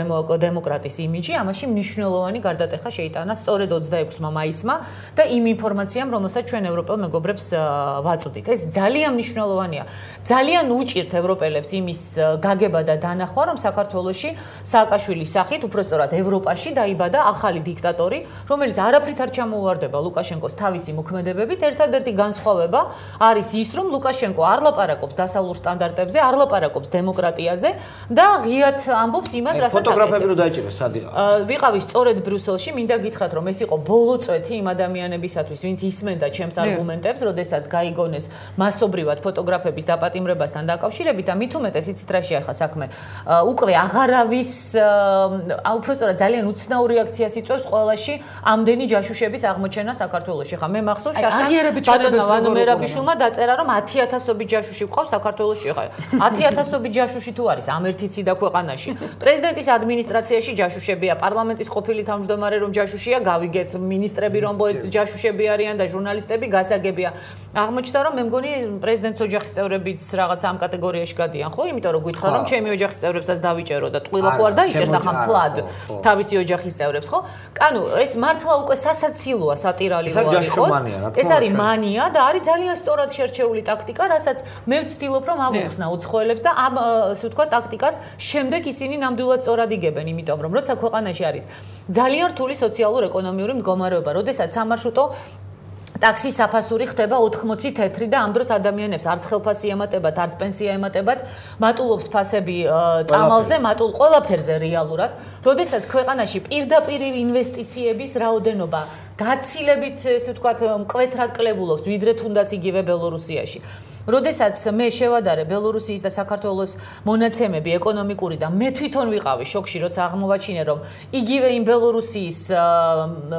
დემოკრატის იმიჯი, ამაში მნიშვნელოვანი გარდატეხა შეიტანა სწორედ ოცდაექვსმა მაისმა და იმ ინფორმაციამ, რომელსაც ჩვენ ევროპელ მეგობრებს ვაწვდით. ეს ძალიან მნიშვნელოვანია. ძალიან უჭირთ ევროპელებს იმის გაგება და დანახვა, რომ საქართველოში სააკაშვილის სახით, უბრალოდ ევროპაში დაიბადა ახალი დიქტატორი, რომელიც არაფრით არ ჩამოუვარდება ლუკაშენკოს თავისი მოქმედებებით. ერთადერთი განსხვავება არის ის, რომ ლუკაშენკო არ ლაპარაკობს დასავლურ სტანდარტებზე, არ ლაპარაკობს დემოკრატიაზე და ღიად ამბობს იმას, რასაც აკეთებს. ფოტოგრაფები რო დაიჭირეს, სად იყავ? ვიყავი სწორედ ბრიუსელში, მინდა გითხრათ, რომ ეს იყო ბოლო წვეთი იმ ადამიანებისათვის, ვინც ისმენდა ჩემს არგუმენტებს, როდესაც გაიგონეს მასობრივად ფოტოგრაფების დაპატიმრებასთან დაკავშირებით და მით უმეტეს იცით რა შეახა საქმე. უკვე აღარავის უბრალოდ ძალიან უცნაური რეაქციას იწვევს ყველაში ამდენი ჯაშუშების აღმოჩენა საქართველოში. ხა მე მახსოვს შაშა ბატონმა ვანო მერაბიშვილმა დაწერა რომ ათი ათასობით ჯაშუში ყავს საქართველოში. ხა ათი ათასობით ჯაშუში თუ არის ამ ერთი ციდა ქვეყანაში. პრეზიდენტის ადმინისტრაციაში ჯაშუშებია, პარლამენტის ყოფილი თავმჯდომარე რომ ჯაშუშია, გავიგეთ მინისტრები რომ ჯაშუშები არიან და ჟურნალისტები გასაგებია. აღმოჩნდა რომ მე მგონი პრეზიდენტის ოჯახის წევრებიც რაღაც ამ კატეგორიაში გადიან, ხო? იმიტომ რომ გითხრა რომ ჩემი ოჯახის წევრებსაც დავიჭერო და ტყილა ხო არ დაიჭერს ახლა მთლად თავისი ოჯახის წევრებს, ხო? კანუ ეს მართლა უკვე სასაცილოა, სატირალი რო არის, ხო? ეს არის მანია და არის ძალიან სწორად შერჩეული ტაქტიკა, რასაც მე ვცდილობ რომ ავუხსნა უცხოელებს და ამ ასე ვთქვა ტაქტიკას შემდეგ ისინი ნამდვილად სწორად იგებენ, იმიტომ რომ როცა ქვეყანაში არის ძალიან რთული სოციალურ-ეკონომიური მდგომარეობა, როდესაც სამარშრუტო ტაქსის საფასური ხდება ოთხმოცი თეთრი და ამ დროს ადამიანებს არც ხელფასი ემატებათ, არც პენსია ემატებათ, მატულობს ფასები წამალზე, მატულ ყველაფერზე რეალურად. როდესაც ქვეყანაში პირდაპირ ინვესტიციების რაოდენობა გაცილებით, ესე ვთქვათ, მკვეთრად კლებულობს, ვიდრე თუნდაც იგივე ბელორუსიაში. როდესაც მე შევადარე ბელორუსიის და საქართველოს მონაცემები ეკონომიკური და მე თვითონ ვიყავი შოკში, როცა აღმოვაჩინე, რომ იგივე იმ ბელორუსიის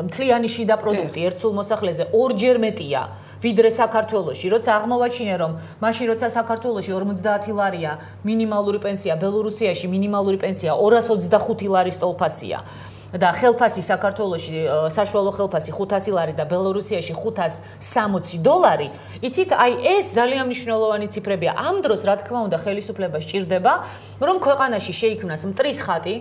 მთლიანი შიდა პროდუქტი ერთ სულ მოსახლეზე ორჯერ მეტია ვიდრე საქართველოში, როცა აღმოვაჩინე, რომ მაშინ როცა საქართველოში ორმოცდაათი ლარია მინიმალური პენსია, ბელორუსიაში მინიმალური პენსია ორას ოცდახუთი ლარის ტოლფასია. და ხელფასი საქართველოში საშუალო ხელფასი ხუთასი ლარი და ბელორუსიაში ხუთას სამოცი დოლარი. იცით, აი ეს ძალიან მნიშვნელოვანი ციფრებია. ამ დროს, რა თქმა უნდა, ხელისუფლება სჭირდება, რომ ქვეყანაში შეიქმნას მტრის ხატი.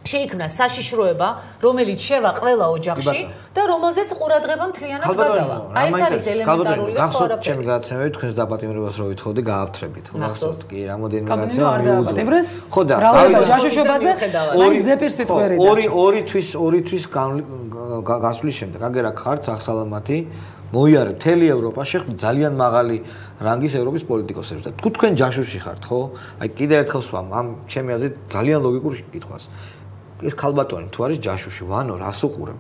შეიქმნა საშიშროება, რომელიც შევა ყველა ოჯახში და რომელზეც ყურადღება მთლიანად გადავა. აი ეს არის ელემენტარული და სხვა არაფერი. ჩემი გადაცემები თქვენს დაპატიმრებას რო ვითხოვდი, გაავთრებით. გახსოვთ კი, რამოდენიმე გადაცემა მიუძღვეს. ხო და ჯაშუშობაზე ორი ზეპირსით ყვერიდა. ორი ორი თვის ორი თვის გასვლის შემდეგ აგერა ხართ ახსალამათი მოიარე მთელი ევროპა შეხვდით ძალიან მაღალი რანგის ევროპის პოლიტიკოსებს და თქვენ ჯაშუში ხართ, ხო? აი კიდევ ერთხელ ვსვამ ამ ჩემი აზრით ძალიან ლოგიკურ კითხვას. ეს ქალბატონი თუ არის ჯაშუში, ვანო რას უყურებ?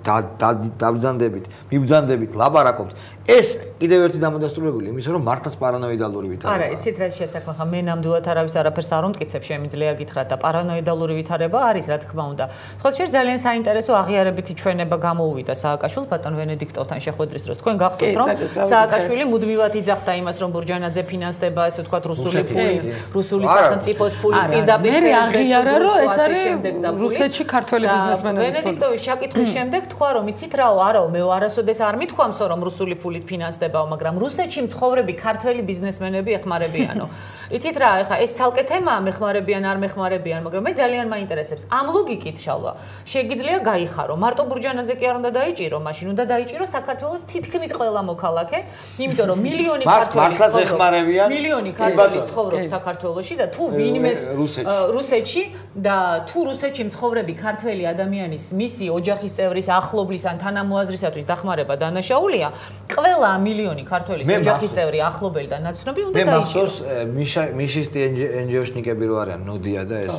დაბძანდებით, მიბძანდებით, ლაპარაკობთ. ეს კიდევ ერთი დამადასტურებელი იმის რომ მართლაც პარანოიდალური ვითარება. არა, იცით რა შესაქმე ხა მე ნამდვილად არავის არაფერს არ უმტკიცებ, შემიძლია გითხრათ და პარანოიდალური ვითარება არის, რა თქმა უნდა. სხვა შეიძლება ძალიან საინტერესო აღიარებითი ჩვენება გამოუვიდა სააკაშვილს ბატონ ვენედიქტოვთან შეხვედრის დროს. თქვენ გახსოვთ რომ სააკაშვილი მუდმივად იძახდა იმას რომ ბურჯანაძე ფინანსდება, ესე ვთქვათ, რუსული ფული, რუსული სახელმწიფოს ფული პირდაპირ მე აღიარა რომ ეს არის რუსეთში ქართველი ბიზნესმენების ფული. ვენედიქტოვის შეკითხვის შემდეგ თქვა რომ იცით რაო, არაო, მე არასოდეს არ მithქვამსო რომ რუსული ფულით ფინანსდებაო, მაგრამ რუსეთში მცხოვრები ქართველი ბიზნესმენები ეხმარებიანო. იცით რა, ეხა ეს ცალკე თემაა, მეხმარებიან არ მეხმარებიან, მაგრამ მე ძალიან მაინტერესებს. ამ ლოგიკით შალვა, შეგიძლია გაიხარო. მარტო ბურჯანაძე კი არ უნდა დაიჭირო, მაშინ უნდა დაიჭირო საქართველოს თითქმის ყველა მოქალაქე, იმიტომ რომ მილიონი ქართველი ეხმარებიან. მილიონი ქართველი ცხოვრობს საქართველოში და თუ ვინმეს რუსეთში და თუ რუსეთში მცხოვრები ქართველი ადამიანის მისი ოჯახის წევრის ახლობლის ან თანამოაზრისათვის დახმარება დანაშაულია, ყველა მილიონი ქართველის ოჯახის წევრი ახლობელი და ნაცნობი უნდა დაიჭირო. მე მახსოვს მიშისტი ენჯიოშნიკები რო არიან, ნოდია და ეს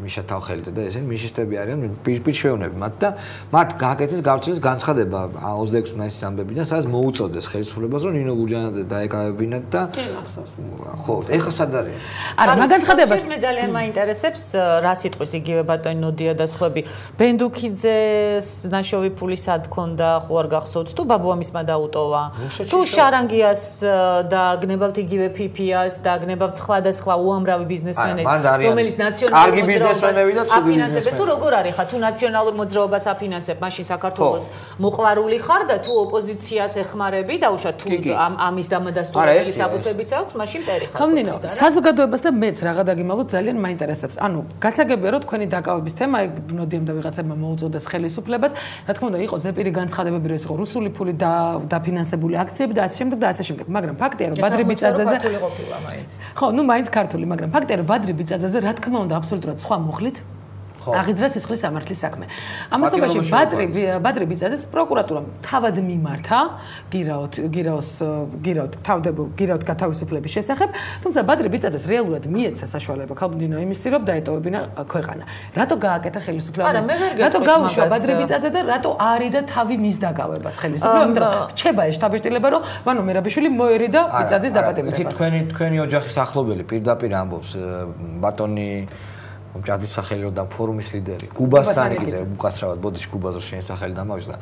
მიშა თავხელიძე და ესენი მიშისტები არიან, პირშევნები მათ და მათ გააკეთეს გავრცელეს განცხადება ოცდაექვსი მაისის ამბებიდან, სადაც მოუწოდეს ხელისუფლებას რომ ნინო ბურჯანაძე დაეკავებინათ და ხო, ეხლა სად არის? არა, მაგ განცხადებას მე ძალიან მაინტერესებს რა სიტყვის იგივე ბატონი ნოდია და სხვები. ბენდუქიძეს ნაშოვი ფული სად ქონდა, ხო არ გახსოვთ თუ ბაბუამისმა დაუტოვა? თუ შარანგიას და გნებავთ იგივე ფიფიას და გნებავთ სხვადასხვა უამრავი ბიზნესმენებს, რომელიც ნაციონალურ მოძრაობას აფინანსებენ, თუ როგორ არის ხა, თუ ნაციონალურ მოძრაობას აფინანსებ, მაშინ საქართველოს მოყვარული ხარ და თუ ოპოზიციას ეხმარები, დაუშვათ თუ ამის დამადასტურებელი საბუთებიც აქვს, მაშინ მტერი ხარ. ხომ, საზოგადოებას და მეც რაღა დაგიმალოთ ძალიან მაინტერესებს. ანუ გასაგებია რომ თქვენი დაკავების თემა აი ნოდიამ და ვიღაცებმა მოუწოდეს ხელისუფლებას, რა თქმა უნდა, იყო ზეპირი განცხადებები, რომ ეს იყო რუსული ფული და დაფინანსებული აქციები და ასე შემდეგ და ასე შემდეგ. მაგრამ ფაქტია, რომ ბადრი ბიწაძეზე ხო, ნუ მაინც ქართული, მაგრამ ფაქტია, რომ ბადრი ბიწაძეზე რა თქმა უნდა აბსოლუტურად სხვა მუხლით აღიძრა სისხლის სამართლის საქმე. ამასობაში ბადრი ბადრი ბიწაძეს პროკურატურამ თავად მიმართა გირაოთ გირაოს გირაოთ თავდებო გირაოთ გათავისუფლების შესახებ, თუმცა ბადრი ბიწაძეს რეალურად მიეცა საშუალება ქალბინო იმისი რომ დაეტოვებინა ქვეყანა. რატო გააკეთა ხელისუფლებას? რატო გაუშვა ბადრი ბიწაძე და რატო არიდა თავი მის დაკავებას ხელისუფლებამ? რჩება ეს შტაბ-შტილება რომ ვანო მერაბიშვილი მოერიდა ბიწაძის დაპატიმრებას. თქვენი თქვენი ოჯახის ახლობელი პირდაპირ ამბობს ბატონი ჯადის სახელი და ფორუმის ლიდერი გუბასანიკიძე უკაცრავად ბოდიში გუბაზო შენ სახელი დამავიწყდა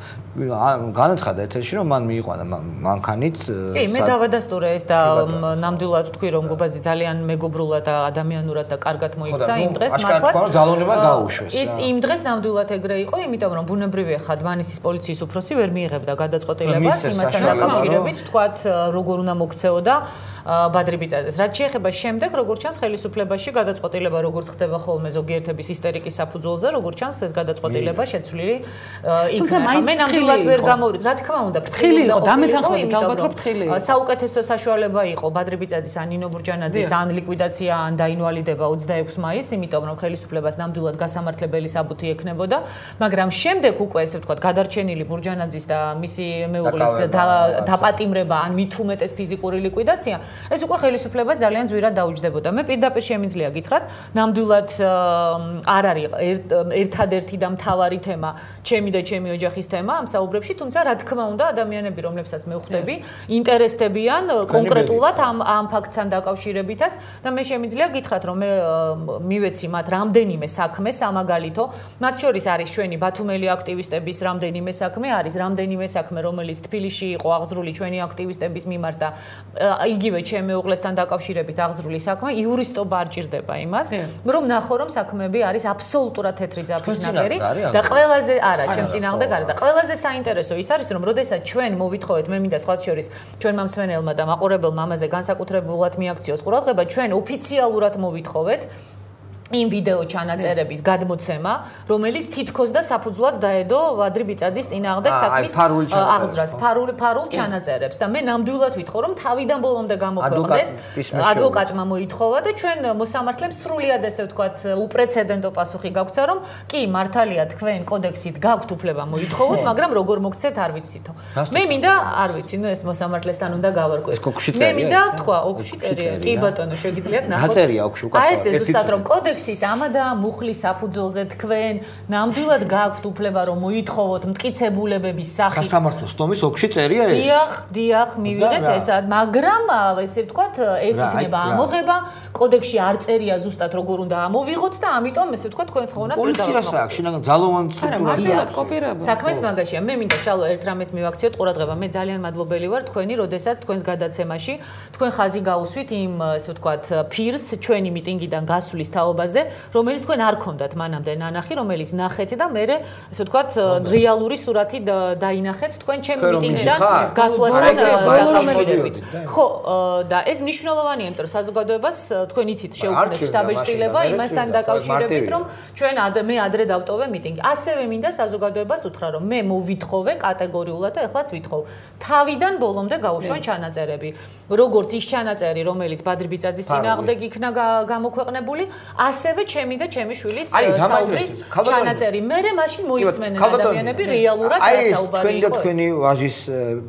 განაცხადა ეთერში რომ მან მიიყვანა მანქანით კი მე დავადასტურე ეს და ნამდვილად თქვი რომ გუბაზი ძალიან მეგობრულად და ადამიანურად და კარგად მოიქცა იმ დღეს მართლაც ძალოვნება გაუშვეს იმ დღეს ნამდვილად ეგრე იყო იმიტომ რომ ბუნებრივია ხა დმანისის პოლიციის უფროსი ვერ მიიღებდა გადაწყვეტილებას იმასთან დაკავშირებით თქვათ როგორ უნდა მოქცეოდა ბადრი ბიწაძეს რაც შეეხება შემდეგ როგორც ჩანს ხელისუფლებაში გადაწყვეტილება როგორც ხდება ხოლმე ზოგიერთების ისტერიკის საფუძველზე როგორც ჩანს ეს გადაწყვეტილება შეცვლილი იქნება მე ნამდვილად ვერ გამოვრის რა თქმა უნდა ფრთხილი იყო დამეთანხმებით ალბათ რომ ფრთხილი იყო საუკეთესო საშუალება იყო ბადრი ბიწაძის ან ნინო ბურჯანაძის ან ლიკვიდაცია ან დაინვალიდება ოცდაექვსი მაისს იმიტომ რომ ხელისუფლებას ნამდვილად გასამართლებელი საბუთი ექნებოდა მაგრამ შემდეგ უკვე ესე ვთქვათ გადარჩენილი ბურჯანაძის და მისი მეუღლის დაპატიმრება ან მით უმეტეს ფიზიკური ლიკვიდაცია ეს უკვე ხელისუფლებას ძალიან ძვირად დაუჯდებოდა. მე პირდაპირ შემიძლია გითხრათ, ნამდვილად არ არის ერთადერთი და მთავარი თემა, ჩემი და ჩემი ოჯახის თემა ამ საუბრებში, თუმცა რა თქმა უნდა, ადამიანები, რომლებსაც მე ვხვდები, ინტერესდებიან კონკრეტულად ამ ამ ფაქტთან დაკავშირებითაც და მე შემიძლია გითხრათ, რომ მე მივეცი მათ რამდენიმე საქმე, სამაგალითო, მათ შორის არის ჩვენი ბათუმელი აქტივისტების რამდენიმე საქმე, არის რამდენიმე საქმე, რომელიც თბილისში იყო აღზრული ჩვენი აქტივისტების მიმართ და იგივე ჩემი მეუღლესთან დაკავშირებით აღზრული საქმე, იურისტობა არ ჭირდება იმას, რომ ნახო, რომ საქმეები არის აბსოლუტურად თეთრი ძაფით ნაგერი და ყველაზე არა, ჩემ წინააღმდეგ არა და ყველაზე საინტერესო ის არის, რომ როდესაც ჩვენ მოვითხოვეთ, მე მინდა სხვა შორის ჩვენმა მსმენელმა და მაყურებელმა ამაზე განსაკუთრებულად მიაქციოს ყურადღება, ჩვენ ოფიციალურად მოვითხოვეთ იმ ვიდეო ჩანაწერების გადმოცემა, რომელიც თითქოს და საფუძვლად დაედო ვადრი ბიწაძის წინააღმდეგ საქმის აღძრას, ფარულ ფარულ ჩანაწერებს და მე ნამდვილად ვითხოვ, რომ თავიდან ბოლომდე გამოქვეყნდეს, ადვოკატმა მოითხოვა და ჩვენ მოსამართლემ სრულიად ესე ვთქვათ, უპრეცედენტო პასუხი გაგვცა, რომ კი, მართალია თქვენ კოდექსით გაქვთ უფლება მოითხოვოთ, მაგრამ როგორ მოგცეთ არ ვიცითო. მე მინდა არ ვიცი, ნუ ეს მოსამართლესთან უნდა გავარკვიოთ. მე მინდა თქვა, ოქში წერია, კი ბატონო, შეგიძლიათ ნახოთ. აწერია ოქში უკაცრავად. აი ეს ზუსტად რომ კოდექსი ის ამადა მუხლის საფუძველზე თქვენ ნამდვილად გაქვთ უფლება რომ მოითხოვოთ მტკიცებულებების სახით სასამართლოს თომის ოქში წერია ეს დიახ დიახ მივიღეთ ესა მაგრამ ესე ვთქვათ ეს იქნება ამოღება კოდექსში არ წერია ზუსტად როგორ უნდა ამოვიღოთ და ამიტომ ესე ვთქვათ თქვენ თხოვნას ვერ დავაკავოთ პოლიციას აქვს შინაგან ძალოვან სტრუქტურას საქმეც მაგაშია მე მინდა შალო ერთ რამეს მივაქციოთ ყურადღება მე ძალიან მადლობელი ვარ თქვენი როდესაც თქვენს გადაცემაში თქვენ ხაზი გაუსვით იმ ესე ვთქვათ ფირს ჩვენი მიტინგიდან გასვლის თაობაზე რომელიც თქვენ არ ქონდათ მანამდე ნანახი რომელიც ნახეთ და მე ესე ვთქვათ რეალური სურათი დაინახეთ თქვენ ჩემი მიტინგიდან გასვლასთან დაკავშირებით ხო და ეს მნიშვნელოვანია იმიტომ რომ საზოგადოებას თქვენ იცით შეუქმნეს შტაბ-ჭრილება იმასთან დაკავშირებით რომ ჩვენ მე ადრე დავტოვე მიტინგი ასევე მინდა საზოგადოებას უთხრა რომ მე მოვითხოვე კატეგორიულად და ეხლაც ვითხოვ თავიდან ბოლომდე გაუშვან ჩანაწერები როგორც ის ჩანაწერი რომელიც ბადრი ბიწაძის წინააღმდეგ იქნა გამოქვეყნებული ასევე ჩემი და ჩემი შვილის საუბრის ჩანაწერი მე მაშინ მოისმენენ ადამიანები რეალურად საუბარი იყო ეს თქვენი ვაჟის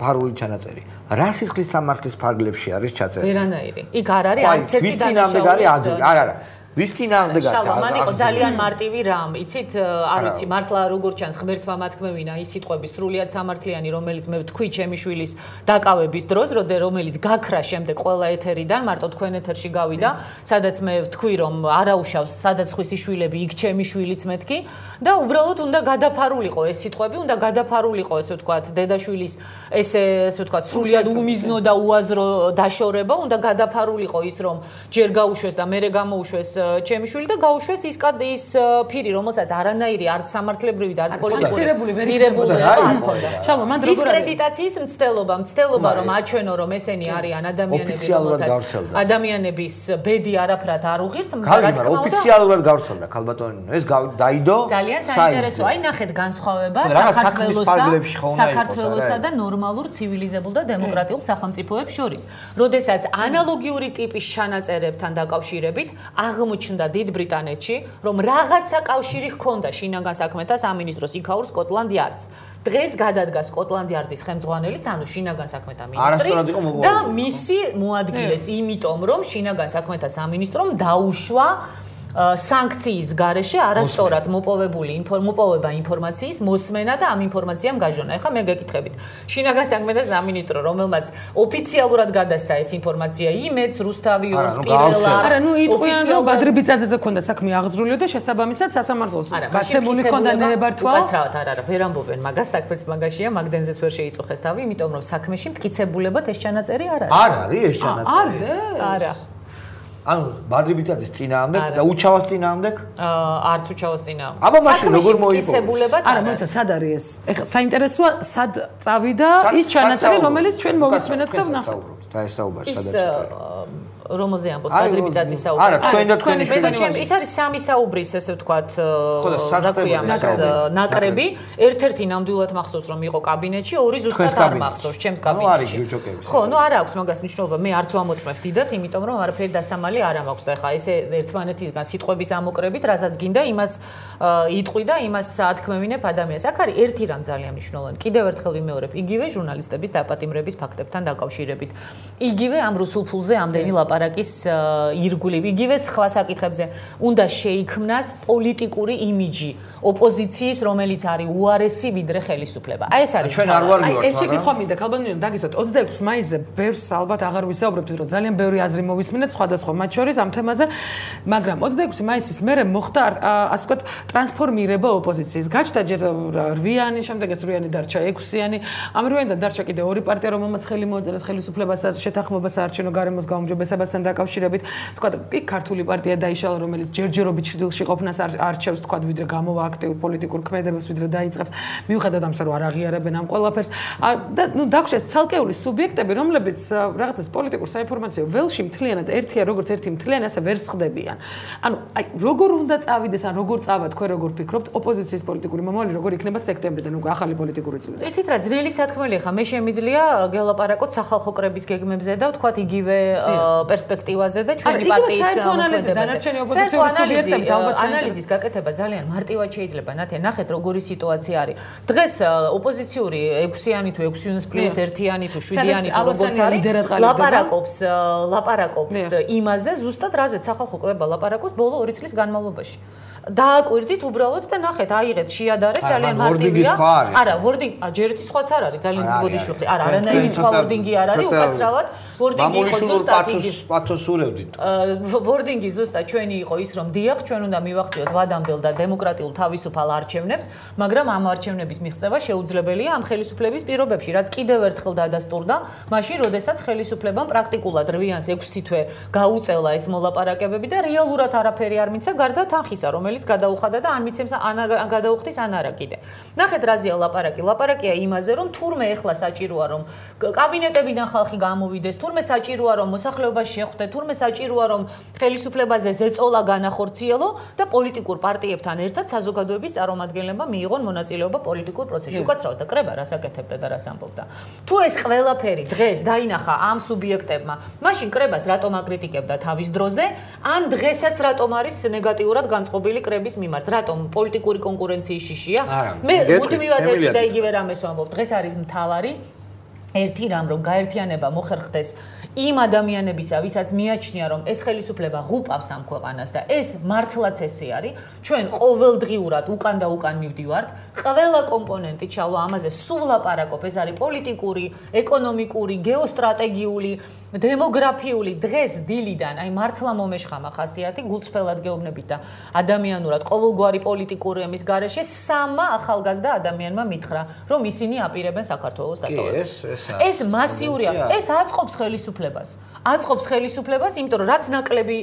ფარული ჩანაწერი რა სისხლის სამართლის ფარგლებში არის ჩაწერილი ვერანაირი იქ არ არის არც ერთი დანაშაული არა არა ვის წინააღმდეგ არის? შალვა, მან იყო ძალიან მარტივი რამ. იცით, არ ვიცი, მართლა როგორ ჩანს ღმერთმა მათქმევინა ის სიტყვები სრულიად სამართლიანი, რომელიც მე ვთქვი ჩემი შვილის დაკავების დროს, რომელიც გაქრა შემდეგ ყველა ეთერიდან, მარტო თქვენ ეთერში გავიდა, სადაც მე ვთქვი, რომ არაუშავს სადაც ხვისი შვილები, იქ ჩემი შვილიც მეთქი და უბრალოდ უნდა გადაფარულიყო ეს სიტყვები, უნდა გადაფარულიყო ესე ვთქვათ, დედაშვილის ესე ესე ვთქვათ, სრულიად უმიზნო და უაზრო დაშორება, უნდა გადაფარულიყო ის, რომ ჯერ გაუშვეს და მერე გამოუშვეს ჩემი შვილი და გაუშვეს ის ის ფირი, რომელსაც არანაირი არც სამართლებრივი და არც პოლიტიკური ვერიფიკებული არ ჰქონდა. შალვა, მან როგორ არის? დისკრედიტაციის მცდელობა, მცდელობა რომ აჩვენო რომ ესენი არიან ადამიანები, რომელთაც ადამიანების ბედი არაფრად არ უღირთ, რა თქმა უნდა, ოფიციალურად გავრცელდა ქალბატონი. ეს დაიდო. ძალიან საინტერესო. აი ნახეთ განსხვავება საქართველოსა, საქართველოსა და ნორმალურ ცივილიზებულ და დემოკრატიულ სახელმწიფოებს შორის. როდესაც ანალოგიური ტიპის ჩანაწერებთან დაკავშირებით აღმოჩნდა დიდ ბრიტანეთში, რომ რაღაცა კავშირი ჰქონდა შინაგან საქმეთა სამინისტროს იქაურ სკოტლანდ იარდს. დღეს გადადგა სკოტლანდ იარდის ხელმძღვანელიც, ანუ შინაგან საქმეთა მინისტრი და მისი მოადგილეც, იმიტომ რომ შინაგან საქმეთა სამინისტრომ დაუშვა სანქციის გარეშე არასწორად მოპოვებული მოპოვება ინფორმაციის მოსმენა და ამ ინფორმაციამ გაჟონა. ეხლა მე გეკითხებით. შინაგან საქმეთა სამინისტრო, რომელმაც ოფიციალურად გადასცა ეს ინფორმაცია იმედს, რუსთავიურს, პირველად. არა, ნუ იტყვიან რომ ბადრი ბიწაძეზე ქონდა საქმე აღძრული და შესაბამისად სასამართლოს გაცემული ქონდა ნებართვა. უკაცრავად არ არა, ვერ ამბობენ მაგას, საქმეც მაგაშია, მაგდენზეც ვერ შეიწუხეს თავი, იმიტომ რომ საქმეში მტკიცებულებად ეს ჩანაწერი არ არის. არ არის ეს ჩანაწერი. არა. ანუ ბადრი ბიწაძის წინააღმდეგ და უჩავას წინააღმდეგ? აა არც უჩავას წინააღმდეგ. აბა მაშინ როგორ მოიპოვეს? არა, მოიცა, სად არის ეს? ეხლა საინტერესოა, სად წავიდა ის ჩანაწერი, რომელიც ჩვენ მოვისმენთ და ვნახოთ. და ეს საუბარი სადაც წავიდა? რომელზე ამბობ ბადრი ბიწაძის საუბარი. არა, თქვენ და თქვენი შვილები. ის არის სამი საუბრის, ესე ვთქვათ, ნაკრები. ერთ-ერთი ნამდვილად მახსოვს, რომ იყო კაბინეტში, ორი ზუსტად არ მახსოვს, ჩემს კაბინეტში. ხო, ნუ არა აქვს მაგას მნიშვნელობა, მე არც ვამოწმებ დიდად, იმიტომ რომ არაფერი დასამალი საშუალებელი არ მაქვს და ხა ესე ერთმანეთისგან სიტყვების ამოკრებით, რასაც გინდა, იმას იტყვი და იმას ათქმევინებ ადამიანს. აქ არის ერთი რამ ძალიან მნიშვნელოვანი. კიდევ ერთხელ ვიმეორებ, იგივე ჟურნალისტების დაპატიმრების ფაქტებთან დაკავშირებით. იგივე ამ რუსულ ფულზე ამდენი ლაპარაკის ირგვლივ, იგივე სხვა საკითხებზე უნდა შეიქმნას პოლიტიკური იმიჯი ოპოზიციის, რომელიც არის უარესი ვიდრე ხელისუფლება. აი ეს არის. ჩვენ არ ვარ მივარ. ეს შეკითხვა მინდა ქალბატონი დაგისვათ ოცდაექვსი მაისზე ბევრს ალბათ აღარ ვისაუბრებთ, რომ ძალიან ბევრი აზრი მოვისმინეთ სხვადასხვა მათ შორის ამ თემაზე, მაგრამ ოცდაექვსი მაისის მერე მოხდა ასე ვთქვათ ტრანსფორმირება ოპოზიციის. გაჩნდა ჯერ რვიანი, შემდეგ ეს რვიანი დარჩა ექვსიანი. ამ რვიანიდან დარჩა კიდე ორი პარტია, რომელმაც ხელი მოაწერეს ხელისუფლებასთან, შეთანხმებას საარჩევნო გარემოს გაუმჯობესებასთან დაკავშირებით. ვთქვათ, კი ქართული პარტია დაიშალა, რომელიც ჯერჯერობით ჭრილში ყოფნას არჩევს, ვთქვათ, ვიდრე გამოვა აქტიურ პოლიტიკურ ქმედებებს, ვიდრე დაიწყებს. მიუხედავად ამისა, რომ არ აღიარებენ ამ ყველაფერს. და ნუ დაგვშეს ცალკეული სუბიექტები, რომლებიც რაღაცას პოლიტიკურ საინფორმაციო ველში მთლიანად ერთია, როგორც ერთი მთლიანი, ასე ვერ სხდებიან. ანუ აი როგორ უნდა წავიდეს, ან როგორ წავა თქვენ როგორ ფიქრობთ, ოპოზიციის პოლიტიკური მომავალი როგორ იქნება სექტემბრიდან უკვე ახალი პოლიტიკური წლიდან? იცით რა, ძნელი სათქმელია ხა, მე შემიძლია გელაპარაკოთ სახალხო კრების გეგმებზე და ვთქვათ იგივე პერსპექტივაზე და ჩვენი პარტიის ანალიზის გაკეთება ძალიან მარტივად შეიძლება. ნათე, ნახეთ როგორი სიტუაცია არის. დღეს ოპოზიციური ექვსიანი თუ ექვსი პლუს ერთიანი თუ შვიდიანი თუ როგორც არის, ლაპარაკობს, ლაპარაკობს იმაზე, ზუსტად რაზეც სახალხო კრება ლაპარაკობს ბოლო ორი წლის განმავლობაში. დააკვირდით უბრალოდ და ნახეთ, აიღეთ, შეადარეთ, ძალიან მარტივია. არა, ვორდინგი, ჯერ ერთი სხვაც არ არის, ძალიან გიგოდი შუხდი. არა, არანაირი სხვა ვორდინგი არ არის, უკაცრავად. ვორდინგი იყო ზუსტად იგი. პათოსურევდით. ვორდინგი ზუსტად ჩვენი იყო ის, რომ დიახ, ჩვენ უნდა მივახციოთ ვადამდელ და დემოკრატიულ თავისუფალ არჩევნებს, მაგრამ ამ არჩევნების მიღწევა შეუძლებელია ამ ხელისუფლების პირობებში, რაც კიდევ ერთხელ დადასტურდა, მაშინ, როდესაც ხელისუფლებამ პრაქტიკულად რვიანს ექვსი თვე გაუწელა ეს მოლაპარაკებები და რეალურად არაფერი არ მიცა გარდა თანხისა, რომელიც გადაუხადა და ან მიცემს ან გადაუხდის ან არა კიდე. ნახეთ რაზეა ლაპარაკი. ლაპარაკია იმაზე, რომ თურმე ეხლა საჭიროა რომ კაბინეტებიდან ხალხი გამოვიდეს, თურმე საჭიროა რომ მოსახლეობას შეხვდეთ, თურმე საჭიროა რომ ხელისუფლებაზე ზეწოლა განახორციელო და პოლიტიკურ პარტიებთან ერთად საზოგადოების წარმომადგენლებმა მიიღონ მონაწილეობა პოლიტიკურ პროცესში. უკაცრავად და კრება რას აკეთებდა და რას ამბობდა. თუ ეს ყველაფერი დღეს დაინახა ამ სუბიექტებმა, მაშინ კრებას რატომ აკრიტიკებდა თავის დროზე, ან დღესაც რატომ არის ნეგატიურად განწყობილი კრების მიმართ, რატომ პოლიტიკური კონკურენციის შიშია? მე მუდმივად ერთი და იგივე რამეს ვამბობ. დღეს არის მთავარი ერთი რამ, რომ გაერთიანება მოხერხდეს იმ ადამიანებისა, ვისაც მიაჩნია, რომ ეს ხელისუფლება ღუპავს ამ ქვეყანას და ეს მართლაც ესე არის, ჩვენ ყოველდღიურად უკან და უკან მივდივართ, ყველა კომპონენტი ჩავლა ამაზე, სულ ლაპარაკობ, ეს არის პოლიტიკური, ეკონომიკური, გეოსტრატეგიული, დემოგრაფიული, დღეს დილიდან, აი მართლა მომეშხამა ხასიათი, გულწრფელად გეუბნებით და ადამიანურად ყოველგვარი პოლიტიკური ემის გარეშე სამა ახალგაზრდა ადამიანმა მითხრა, რომ ისინი აპირებენ საქართველოს დატოვებას. ეს მასიურია, ეს აწყობს ხელისუფლებას. აწყობს ხელისუფლებას, იმიტომ რომ რაც ნაკლები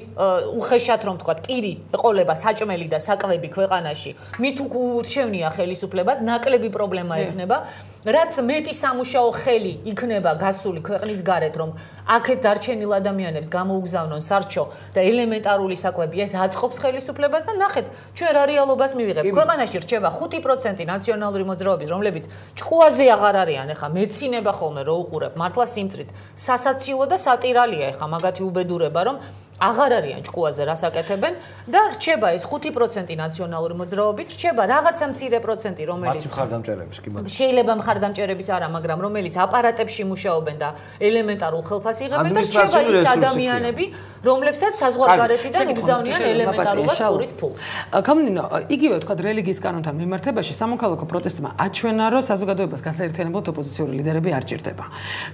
უხეშად რომ თქვა, პირი ეყოლება საჭმელი და საკვები ქვეყანაში, მით ურჩევნია ხელისუფლებას, ნაკლები პრობლემა ექნება. რაც მეტი სამუშაო ხელი იქნება გასული ქვეყნის გარეთ, რომ აქეთ დარჩენილ ადამიანებს გამოუგზავნონ სარჩო და ელემენტარული საკვები, ეს აწყობს ხელისუფლებას და ნახეთ, ჩვენ რა რეალობას მივიღებთ. ქვეყანაში რჩება ხუთი პროცენტი ნაციონალური მოძრაობის, რომლებიც ჭკუაზე აღარ არიან, ეხა მეცინება ხოლმე რო უყურებ, მართლა სიმწრით. სასაცილო და სატირალია ეხა მაგათი უბედურება, რომ აღარ არიან ჭკუაზე რას აკეთებენ და რჩება ეს ხუთი პროცენტი ნაციონალური მოძრაობის, რჩება რაღაცა მცირე პროცენტი, რომელიც მათი მხარდამჭერების კი მაგრამ შეიძლება მხარდამჭერების არა, მაგრამ რომელიც აპარატებში მუშაობენ და ელემენტარულ ხელფას იღებენ და რჩება ის ადამიანები, რომლებსაც საზღვარგარეთიდან უგზავნიან ელემენტარულად პურის ფულს. გამნინო, იგივე თქვა რელიგიის კანონთან მიმართებაში სამოქალაქო პროტესტმა აჩვენა, რომ საზოგადოებას გასაერთიანებლად ოპოზიციური ლიდერები არ ჭირდება.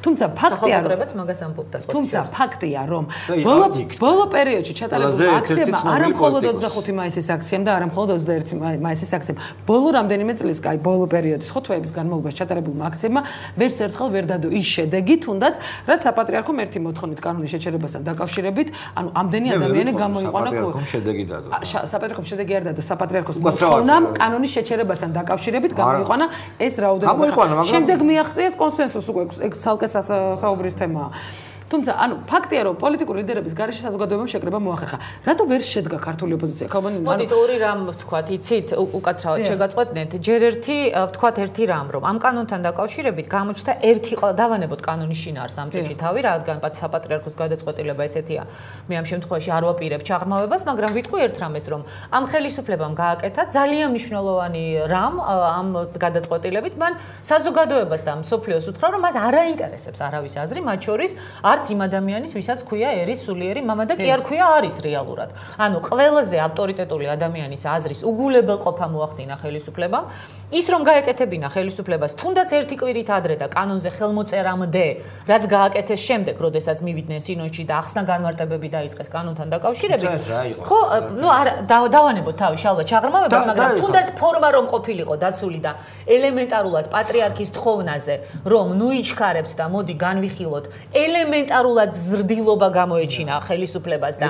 თუმცა ფაქტია, რომ მაგას ამბობდა. თუმცა ფაქტია, რომ ბოლო ბოლო პერიოდში ჩატარებულ აქციებმა არა მხოლოდ ოცდახუთი მაისის აქციამ და არა მხოლოდ ოცდაერთი მაისის აქციამ, ბოლო რამდენიმე წლის, აი ბოლო პერიოდის ხო თვეების განმავლობაში ჩატარებულმა აქციებმა ვერც ერთხელ ვერ დადო ის შედეგი, თუნდაც რაც საპატრიარქომ ერთი მოთხოვნით კანონის შეჩერებასთან დაკავშირებით, ანუ ამდენი ადამიანი გამოიყვანა საპატრიარქომ შედეგი დადო. საპატრიარქომ შედეგი არ დადო, საპატრიარქოს მოთხოვნამ კანონის შეჩერებასთან დაკავშირებით გამოიყვანა ეს რაოდენობა. შემდეგ მიაღწიეს კონსენსუსი, უკვე ეს ცალკე საუბრის თემაა. თუმცა ანუ ფაქტია რომ პოლიტიკური ლიდერების გარეშე საზოგადოებამ შეკრება მოახერხა. რატო ვერ შედგა ქართული ოპოზიცია? მოდით ორი რამ ვთქვათ, იცით, უკაცრავად შეგაწყვეტნეთ. ჯერ ერთი ვთქვათ ერთი რამ, რომ ამ კანონთან დაკავშირებით გამოჩნდა ერთი დავანებოთ კანონის შინაარს ამ წუთში თავი, რადგან საპატრიარქოს გადაწყვეტილება ესეთია. მე ამ შემთხვევაში არ ვაპირებ ჩაღრმავებას, მაგრამ ვიტყვი ერთ რამეს, რომ ამ ხელისუფლებამ გააკეთა ძალიან მნიშვნელოვანი რამ ამ გადაწყვეტილებით, მან საზოგადოებას და მსოფლიოს უთხრა, რომ მას არ აინტერესებს არავის აზრი, მათ შორის არც იმ ადამიანის, ვისაც ქვია ერის სულიერი მამა და კი არ ქვია არის რეალურად. ანუ ყველაზე ავტორიტეტული ადამიანის აზრის უგულებელყოფა მოახდინა ხელისუფლებამ. ის რომ გაეკეთებინა ხელისუფლებას თუნდაც ერთი კვირით ადრე და კანონზე ხელმოწერამდე, რაც გააკეთეს შემდეგ, როდესაც მივიდნენ სინოდში და ახსნა განმარტებები დაიწყეს კანონთან დაკავშირებით. ხო, ნუ არა დავანებოთ თავი შალვა ჩაღრმავებას, მაგრამ თუნდაც ფორმა რომ ყოფილიყო დაცული და ელემენტარულად პატრიარქის თხოვნაზე, რომ ნუ იჩქარებთ და მოდი განვიხილოთ, ელემენტარულად ზრდილობა გამოეჩინა ხელისუფლებას და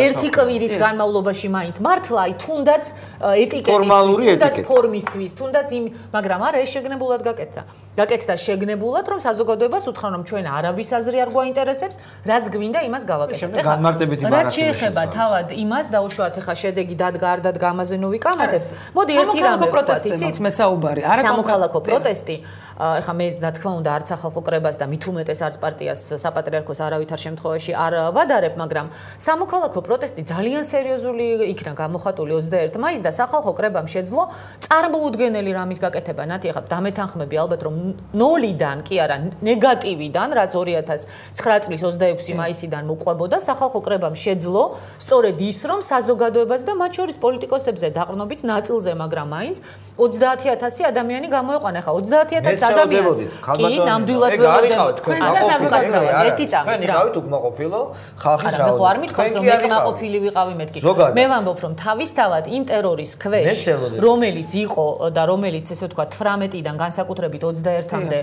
ერთი კვირის განმავლობაში მაინც მართლა აი თუნდაც ეტიკეტისთვის, თუნდაც ფორმისთვის, თუნდაც იმ, მაგრამ არა ეს შეგნებულად გაკეთდა. გაკეთდა შეგნებულად, რომ საზოგადოებას უთხრა, რომ ჩვენ არავის აზრი არ გვაინტერესებს, რაც გვინდა იმას გავაკეთებთ. ეხლა განმარტებითი ბარათი. რაც შეეხება თავად იმას დაუშვათ, ეხლა შედეგი დადგა არ დადგა ამაზე ნუ ვიკამათებ. მოდი ერთი რამე პროტესტი, იცით, მე საუბარი. არა სამოქალაქო პროტესტი. ეხლა მე რა თქმა უნდა არც სახალხო კრებას და მით უმეტეს არც პარტიას საპატრიარქოს არავითარ შემთხვევაში არ ვადარებ, მაგრამ სამოქალაქო პროტესტი ძალიან სერიოზული იქნა გამოხატული ოცდაერთი მაისს და სახალხო კრებამ შეძლო წარმოუდგენელი რამის გაკეთება. ნათი ეხლა დამეთანხმები ალბათ რომ ნოლიდან კი არა ნეგატივიდან, რაც ორი ათას ცხრა წლის ოცდაექვსი მაისიდან მოყვებოდა, სახალხო კრებამ შეძლო სწორედ ის, რომ საზოგადოებას და მათ შორის პოლიტიკოსებზე დაყრდნობით ნაწილზე, მაგრამ მაინც ოცდაათი ათასი ადამიანი გამოეყვანა. ეხლა ოცდაათი ათასი ადამიანს კი ნამდვილად ველოდებით თქვენ და საზოგადოება ერთი წამი. თქვენ იყავით უკმაყოფილო ხალხის რაოდენობით. ხო არ მithქვას რომ უკმაყოფილი ვიყავი მეთქი. მე ვამბობ რომ თავისთავად იმ ტერორის ქვეშ, რომელიც იყო და რომელიც ესე ვთქვა თვრამეტიდან განსაკუთრებით ოცდაერთამდე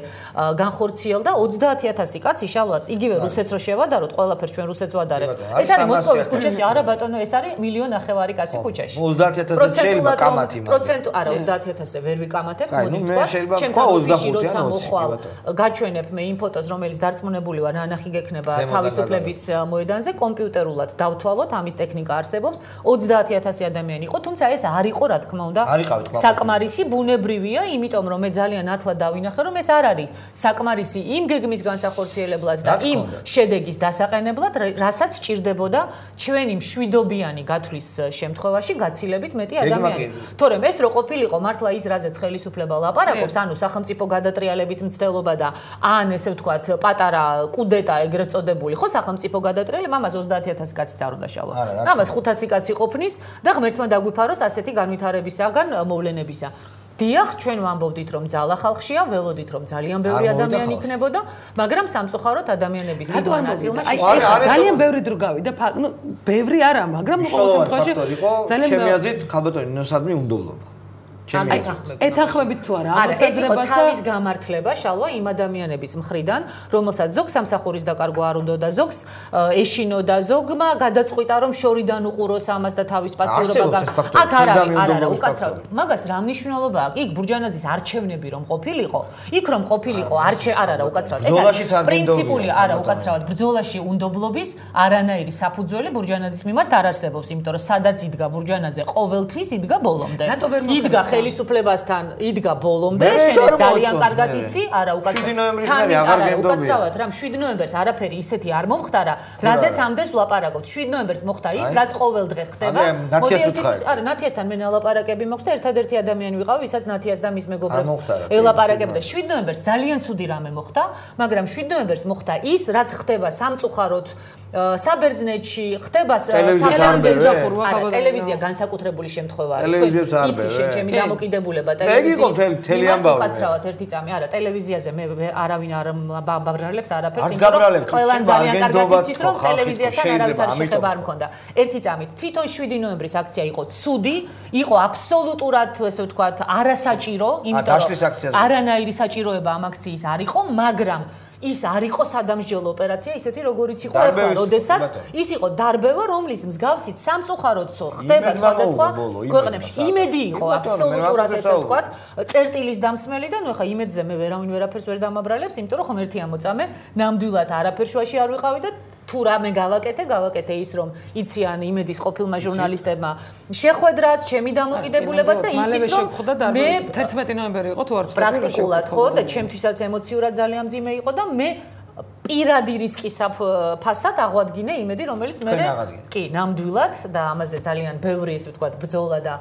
განხორციელდა ოცდაათი ათასი კაცი შალვად იგივე რუსეთს რო შევადაროთ, ყველაფერს ჩვენ რუსეთს ვადარებთ. ეს არის მოსკოვის ქუჩაში, არა ბატონო, ეს არის მილიონ ნახევარი კაცი ქუჩაში. ოცდაათი ათასი შეიძლება კამათი. პროცენტ არა ოცდაათი ათასზე ვერ ვიკამათებ, მოდი თქვა. ჩემ თავში როცა მოხვალ გაჩვენებ მე იმ ფოტოს, რომელიც დარწმუნებული ვარ, ნანახი გექნება თავისუფლების მოედანზე, კომპიუტერულად დავთვალოთ, ამის ტექნიკა არსებობს. ოცდაათი ათასი ადამიანი იყო, თუმცა ეს არ იყო, რა თქმა უნდა, საკმარისი ბუნებრივია, იმიტომ რომ მე ძალიან ათლად დავინახე, რომ ეს არ არის საკმარისი იმ გეგმის განსახორციელებლად და იმ შედეგის დასაყენებლად, რასაც სჭირდებოდა ჩვენი მშვიდობიანი გათვლის შემთხვევაში გაცილებით მეტი ადამიანი. თორემ ეს რო ყოფილიყო მართლა ის რაზეც ხელისუფლება ლაპარაკობს, ანუ სახელმწიფო გადატრიალების მცდელობა და ან ესე ვთქვათ პატარა კუდეტა ეგრეთ წოდებული, ხო სახელმწიფო გადატრიალება, ამას ოცდაათი ათასი კაცი არ უნდა შალვა. ამას ხუთასი კაცი ყოფნის და ღმერთმა დაგვიფაროს ასეთი განვითარებისაგან მოვლენებისა. დიახ, ჩვენ ვამბობდით, რომ ძალა ხალხშია, ველოდით, რომ ძალიან ბევრი ადამიანი იქნებოდა, მაგრამ სამწუხაროდ ადამიანების დიდმა ნაწილმა შეეხება. ძალიან ბევრი დრო გავიდა, ნუ ბევრი არა, მაგრამ ყოველ შემთხვევაში ძალიან ჩემი აზრით, ხალბატონი ნოსადმი უნდობლობა. ეთანხმებით თუ არა ამასაზრებას და თავის გამართლება შალვა იმ ადამიანების მხრიდან, რომელსაც ზოგს სამსახურის დაკარგვა არ უნდა და ზოგს ეშინო და ზოგმა გადაწყვიტა რომ შორიდან უყუროს ამას და თავის პასიურობა გამ. აქ არ არის, არა, არა, უკაცრავად. მაგას რა მნიშვნელობა აქვს? იქ ბურჯანაძის არჩევნები რომ ყოფილიყო, იქ რომ ყოფილიყო არჩე არა, არა, უკაცრავად. ეს არის პრინციპული, არა, უკაცრავად. ბრძოლაში უნდობლობის არანაირი საფუძველი ბურჯანაძის მიმართ არ არსებობს, იმიტომ რომ სადაც იდგა ბურჯანაძე, ყოველთვის იდგა ბოლომდე. იდგა ხელისუფლებასთან იდგა ბოლომდე, შენ ძალიან კარგად იცი, არა უკაცრავად. შვიდი ნოემბრის მერე აღარ გემდობია. უკაცრავად, რამ შვიდი ნოემბერს არაფერი ისეთი არ მომხდარა, რაზეც ამდენს ვლაპარაკობთ. შვიდი ნოემბერს მოხდა ის, რაც ყოველ დღე ხდება. არა, ნათიასთან მე ნალაპარაკები მოხდა, ერთადერთი ადამიანი ვიყავ, ვისაც ნათიას და მის მეგობრებს ელაპარაკებდა. შვიდი ნოემბერს ძალიან ცუდი რამე მოხდა, მაგრამ შვიდი ნოემბერს მოხდა ის, რაც ხდება სამწუხაროდ საბერძნეთში, ხდება ტელევიზია განსაკუთრებული შემთხვევაა. იცი შენ ჩემი დამოკიდებულება ტელევიზიის. უკაცრავად ერთი წამი, არა, ტელევიზიაზე მე არავინ არ ბაბრალებს არაფერს, იმიტომ რომ ყველან ძალიან კარგად იცის, რომ ტელევიზიასთან არავითარი შეხება არ მქონდა. ერთი წამით თვითონ შვიდი ნოემბრის აქცია იყო ცუდი, იყო აბსოლუტურად, ესე ვთქვათ, არასაჭირო, იმიტომ რომ არანაირი საჭიროება ამ აქციის არ იყო, მაგრამ ის არ იყო სადამსჯელო ოპერაცია, ისეთი როგორიც იყო ახლა, როდესაც ის იყო დარბევა, რომლის მსგავსით სამწუხაროდ ხდება სხვადასხვა ქვეყნებში. იმედი იყო აბსოლუტურად ესე ვთქვათ, წერტილის დამსმელი და ნუ ახლა იმედზე მე ვერავინ ვერაფერს ვერ დამაბრალებს, იმიტომ რომ ხომ ერთი ამოწამე, ნამდვილად არაფერ შუაში არ ვიყავი და თუ რამე გავაკეთე, გავაკეთე ის რომ იციან იმედის ყოფილმა ჟურნალისტებმა შეხვედრაც, ჩემი დამოკიდებულებას და ისიც რომ მე თერთმეტი ნოემბერი იყო თუ არ ვცდები პრაქტიკულად ხო და ჩემთვისაც ემოციურად ძალიან მძიმე იყო და მე პირადი რისკის ფასად აღვადგინე იმედი, რომელიც მე კი, ნამდვილად და ამაზე ძალიან ბევრი ისე ვთქვათ ბრძოლა და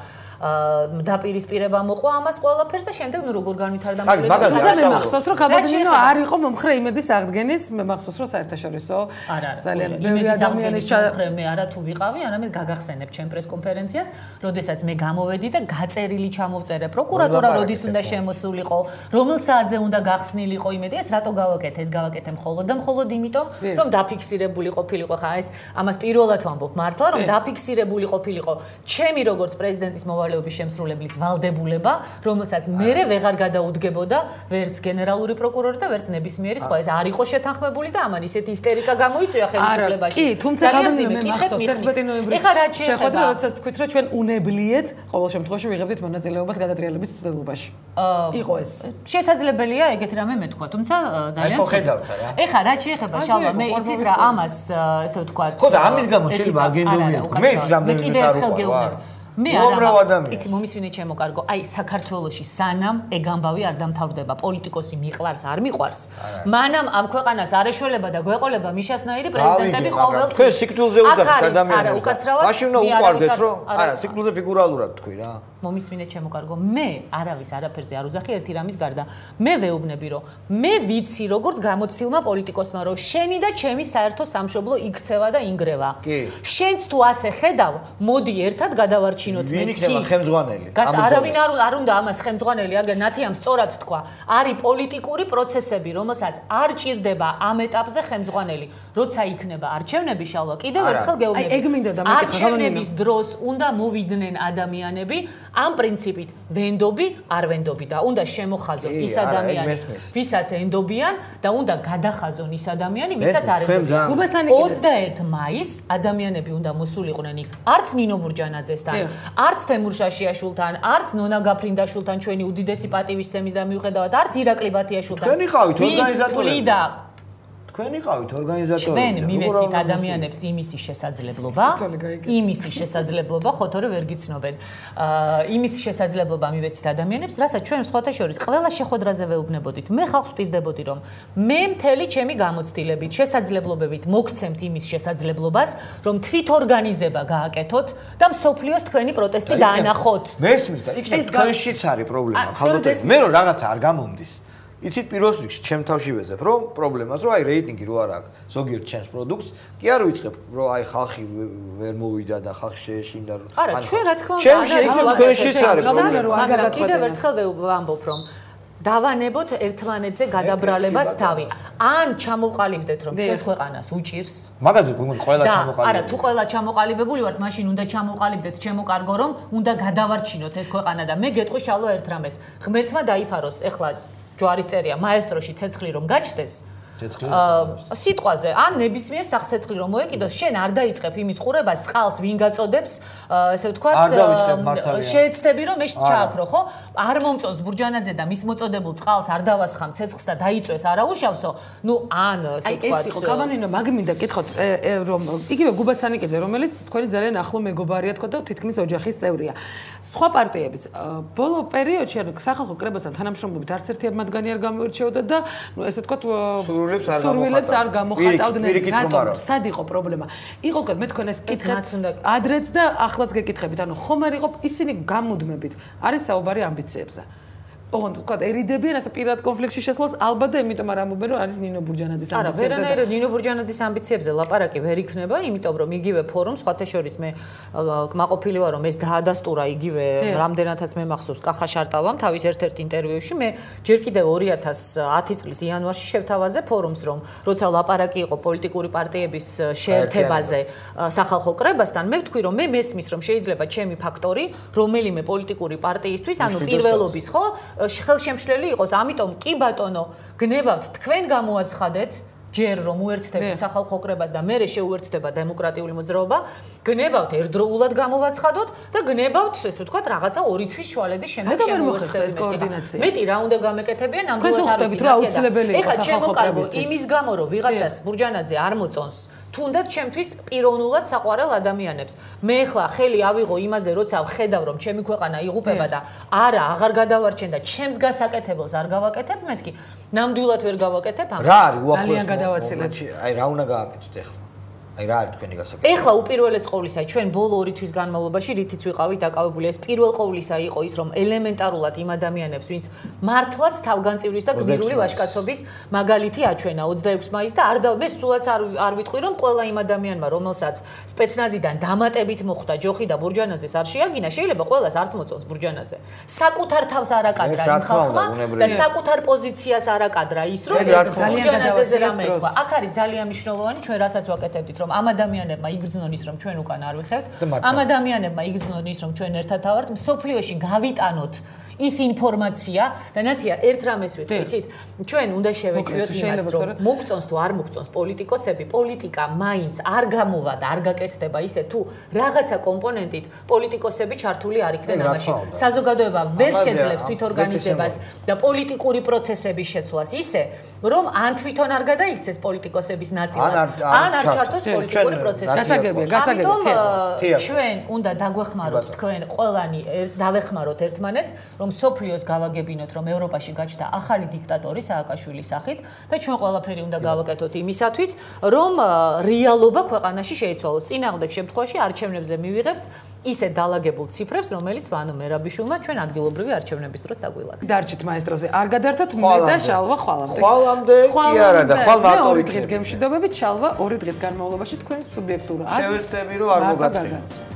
დაპირისპირება მოყვა ამას ყველაფერს და შემდეგ ნუ როგორ განვითარდა მაგრამ მე მახსოვს რომ გადაგინო არ იყო მომხრე იმედის აღდგენის მე მახსოვს რომ საერთაშორისო ძალიან ბევრი ადამიანის მომხრე მე არა თუ ვიყავი არამედ გაგახსენებ ჩემ პრესკონფერენციას როდესაც მე გამოვედი და გაწერილი ჩამოვწერე პროკურატურა როდის უნდა შემოსულიყო რომელ საათზე უნდა გახსნილიყო იმედი ეს რატო გავაკეთე ეს გავაკეთე მხოლოდ და მხოლოდ იმიტომ რომ დაფიქსირებული ყოფილიყო ხა ეს ამას პირველად ვამბობ მართლა რომ დაფიქსირებული ყოფილიყო ჩემი როგორც პრეზიდენტის მოვალეობის შემსრულებლის ვალდებულება რომელსაც მერე ვეღარ გადაუდგებოდა ვერც გენერალური პროკურორი და ვერც ნებისმიერი სხვა ეს არ იყო შეთანხმებული და ამან ისეთი ისტერიკა გამოიწვია ხელისუფლებაში კი თუმცა გადამიმე მახსოვს თერთმეტი ნოემბრის შეხვედრა როდესაც თქვით რომ ჩვენ უნებლიეთ ყოველ შემთხვევაში ვიღებდით მონაწილეობას გადატრიალების მცდელობაში იყო ეს შესაძლებელია ეგეთი რამე მეთქვა თუმცა ძალიან ხო ხედავთ რა ეხლა რა შეეხება შალვა მე იცით რა ამას ესე ვთქვათ ხო და ამის გამო შეიძლება აგენდობია მე ის რამდენიმე არ უყვა მე არა იცი მომისმინე ჩემო კარგო აი საქართველოში სანამ ეგ ამბავი არ დამთავრდება პოლიტიკოსი მიყვარს არ მიყვარს მანამ ამ ქვეყანას არ ეშველება და გვეყოლება მიშასნაირი პრეზიდენტები ყოველთვის თქვენ სიკვდილზე უძახთ ადამიანებს არა უკაცრავად მაშინ უნდა უყვარდეთ რომ არა სიკვდილზე ფიგურალურად თქვი რა მომისმინე ჩემო კარგო მე არავის არაფერზე არ უძახი ერთი რამის გარდა მე ვეუბნები რომ მე ვიცი როგორც გამოცდილმა პოლიტიკოსმა რომ შენი და ჩემი საერთო სამშობლო იქცევა და ინგრევა შენც თუ ასე ხედავ მოდი ერთად გადავარჩინოთ მეთქი ხელმძღვანელი გას არავინ არ არ უნდა ამას ხელმძღვანელი აგერ ნათიამ სწორად თქვა არის პოლიტიკური პროცესები რომელსაც არ ჭირდება ამ ეტაპზე ხელმძღვანელი როცა იქნება არჩევნები შალვა კიდევ ერთხელ გეუბნები აი ეგ მინდა და მეკითხა არჩევნების დროს უნდა მოვიდნენ ადამიანები ამ პრინციპით ვენდობი არ ვენდობი და უნდა შემოხაზონ ის ადამიანი ვისაც ენდობიან და უნდა გადახაზონ ის ადამიანი ვისაც არ ენდობიან ოცდაერთი მაისს ადამიანები უნდა მოსულიყვნენ იქ არც ნინო ბურჯანაძესთან არც თემურ შაშიაშვილთან არც ნონა გაფრინდაშვილთან ჩვენი უდიდესი პატივისცემის და მიუხედავად არც ირაკლი ბათიაშვილთან თქვენი ხავით ორგანიზატორები თქვენი ხავით ორგანიზატორები ჩვენ მივეცით ადამიანებს იმისი შესაძლებლობა იმისი შესაძლებლობა ხოთორე ვერ გიცნობენ იმისი შესაძლებლობა მივეცით ადამიანებს რასაც ჩვენ სხვათა შორის ყველა შეხვედრაზე ვეუბნებოდით მე ხალხს ვპირდებოდი რომ მე მთელი ჩემი გამოცდილებით შესაძლებლობებით მოგცემთ იმის შესაძლებლობას რომ თვითორგანიზება გააკეთოთ და მსოფლიოს თქვენი პროტესტი დაანახოთ მესმის და იქ თქვენშიც არის პრობლემა ხალხო მე რომ რაღაცა არ გამომდის იცით პირველ რიგში ჩემ თავში ვეძებ რომ პრობლემას რომ აი რეიტინგი რო არ აქვს ზოგიერთ ჩემს პროდუქტს კი არ ვიწყებ რომ აი ხალხი ვერ მოვიდა და ხალხი შეეშინდა რომ არა ჩვენ რა თქმა უნდა ჩემში იქ თქვენშიც არის პრობლემა მაგრამ კიდევ ერთხელ ვამბობ რომ დავანებოთ ერთმანეთზე გადაბრალებას თავი. ან ჩამოვყალიბდეთ რომ ჩვენს ქვეყანას უჭირს. მაგაზე ყველა ჩამოყალიბებული. არა, თუ ყველა ჩამოყალიბებული ვართ, მაშინ უნდა ჩამოვყალიბდეთ ჩემო კარგო რომ უნდა გადავარჩინოთ ეს ქვეყანა და მე გეტყვი შალვა ერთ რამეს. ღმერთმა დაიფაროს, ეხლა ჯვარის წერია მაესტროში ცეცხლი რომ გაჩნდეს. სიტყვაზე ან ნებისმიერ სახსეცხლი რომ მოეკიდოს შენ არ დაიწყებ იმის ყურებას წყალს ვინ გაწოდებს ესე ვთქვათ შეეცდები რომ ეს ჩააქრო ხო არ მომწონს ბურჯანაძე და მის მოწოდებულ წყალს არ დავასხამ ცეცხლს და დაიწვეს არაუშავსო ნუ ან ესე ვთქვათ ეს იყო კავანინო მაგმინდა კითხოთ რომ იგივე გუბასანიკეძე რომელიც თქვენი ძალიან ახლო მეგობარია თქო და თითქმის ოჯახის წევრია სხვა პარტიებიც ბოლო პერიოდში ანუ სახალხო კრებასთან თანამშრომლობით არც ერთი მათგანი არ გამოირჩეოდა და ნუ ესე ვთქვათ სურვილებს არ გამოხატავდნენ რატომ სად იყო პრობლემა იყო თქვა მე თქვენ ეს კითხეთ ადრეც და ახლაც გეკითხებით ანუ ხომ არ იყო ისინი გამუდმებით არის საუბარი ამბიციებზე ოღონდ თქვა ერიდებიან ასე პირად კონფლიქტში შესვლას ალბათ და იმიტომ არ ამობენ რომ არის ნინო ბურჯანაძის ამბიციებზე არა ვერანაირად ნინო ბურჯანაძის ამბიციებზე ლაპარაკი ვერ იქნება იმიტომ რომ იგივე ფორუმ სხვათა შორის მე კმაყოფილი ვარ რომ ეს დაადასტურა იგივე რამდენადაც მე მახსოვს კახა შარტავამ თავის ერთ-ერთ ინტერვიუში მე ჯერ კიდევ ორი ათას ათი წლის იანვარში შევთავაზე ფორუმს რომ როცა ლაპარაკი იყო პოლიტიკური პარტიების შეერთებაზე სახალხო კრებასთან მე ვთქვი რომ მე მესმის რომ შეიძლება ჩემი ფაქტორი რომელიმე პოლიტიკური პარტიისთვის ანუ პირველობის ხო ხელშემშლელი იყოს, ამიტომ კი ბატონო, გნებავთ თქვენ გამოაცხადეთ ჯერ რომ უერთდებით სახალხო კრებას და მერე შეუერთდება დემოკრატიული მოძრაობა, გნებავთ ერთდროულად გამოვაცხადოთ და გნებავთ, ესე ვთქვათ, რაღაცა ორი თვის შუალედის შემდეგ შემოუერთდება ეს კოორდინაცია. მეტი რა უნდა გამეკეთებიან, ნამდვილად არ ვიცი. ეხლა ჩემო იმის გამო რომ ვიღაცას ბურჯანაძე არ მოწონს, თუნდაც ჩემთვის პიროვნულად საყვარელ ადამიანებს. მე ახლა ხელი ავიღო იმაზე, როცა ვხედავ რომ ჩემი ქვეყანა იღუპება და არა, აღარ გადავარჩენ და ჩემს გასაკეთებელს არ გავაკეთებ, მეთქი ნამდვილად ვერ გავაკეთებ ამას. რა არის უახლოეს ძალიან გადავაცილეთ. აი რა უნდა გააკეთოთ ახლა? აი რა არის თქვენი გასაკეთებელი? ეხლა უპირველეს ყოვლისა ჩვენ ბოლო ორი თვის განმავლობაში რითიც ვიყავით დაკავებული ეს პირველ ყოვლისა იყო ის რომ ელემენტარულად იმ ადამიანებს ვინც მართლაც თავგანწირვის და გმირული ვაჟკაცობის მაგალითი აჩვენა ოცდაექვსი მაისს და არ და მე სულაც არ არ ვიტყვი რომ ყველა იმ ადამიანმა რომელსაც სპეცნაზიდან დამატებით მოხვდა ჯოხი და ბურჯანაძეს არ შეაგინა შეიძლება ყველას არც მოწონს ბურჯანაძე საკუთარ თავს არაკადრა იმ ხალხმა და საკუთარ პოზიციას არაკადრა ის რომ ბურჯანაძეზე რამე თქვა აქ არის ძალიან მნიშვნელოვანი ჩვენ რასაც ვაკეთებდით რომ ამ ადამიანებმა იგრძნონ ის რომ ჩვენ უკან არ ვიხევთ ამ ადამიანებმა იგრძნონ ის რომ ჩვენ ერთად ავართ მსოფლიოში გავიტანოთ ის ინფორმაცია და ნათია ერთ რამეს ვიტყვით ჩვენ უნდა შევეჭვიოთ იმას რომ მოგწონს თუ არ მოგწონს პოლიტიკოსები პოლიტიკა მაინც არ გამოვა და არ გაკეთდება ისე თუ რაღაცა კომპონენტით პოლიტიკოსები ჩართული არ იქნენ ამაში საზოგადოება ვერ შეძლებს თვითორგანიზებას და პოლიტიკური პროცესების შეცვლას ისე რომ ან თვითონ არ გადაიქცეს პოლიტიკოსების ნაწილად ან არ ჩართოს პოლიტიკური პროცესი გასაგებია გასაგებია ჩვენ უნდა დაგვეხმაროთ თქვენ ყველანი დავეხმაროთ ერთმანეთს რომ სოფლიოს გავაგებინოთ რომ ევროპაში გაჩნდა ახალი დიქტატორი სააკაშვილის სახით და ჩვენ ყველაფერი უნდა გავაკეთოთ იმისათვის რომ რეალობა ქვეყანაში შეიცვალოს წინააღმდეგ შემთხვევაში არჩევნებზე მივიღებთ ისე დაალაგებულ ციფრებს რომელიც ვანო მერაბიშვილმა ჩვენ ადგილობრივი არჩევნების დროს დაგვილაგა დარჩით მაესტროზე არ გადართოთ მე და შალვა ხვალამდე ხვალამდე კი არა და ხვალ მარტო ორი დღის გემშვიდობებით შალვა ორი დღის განმავლობაში თქვენ სუბიექტურა შევეცდები რომ არ მოგაწევთ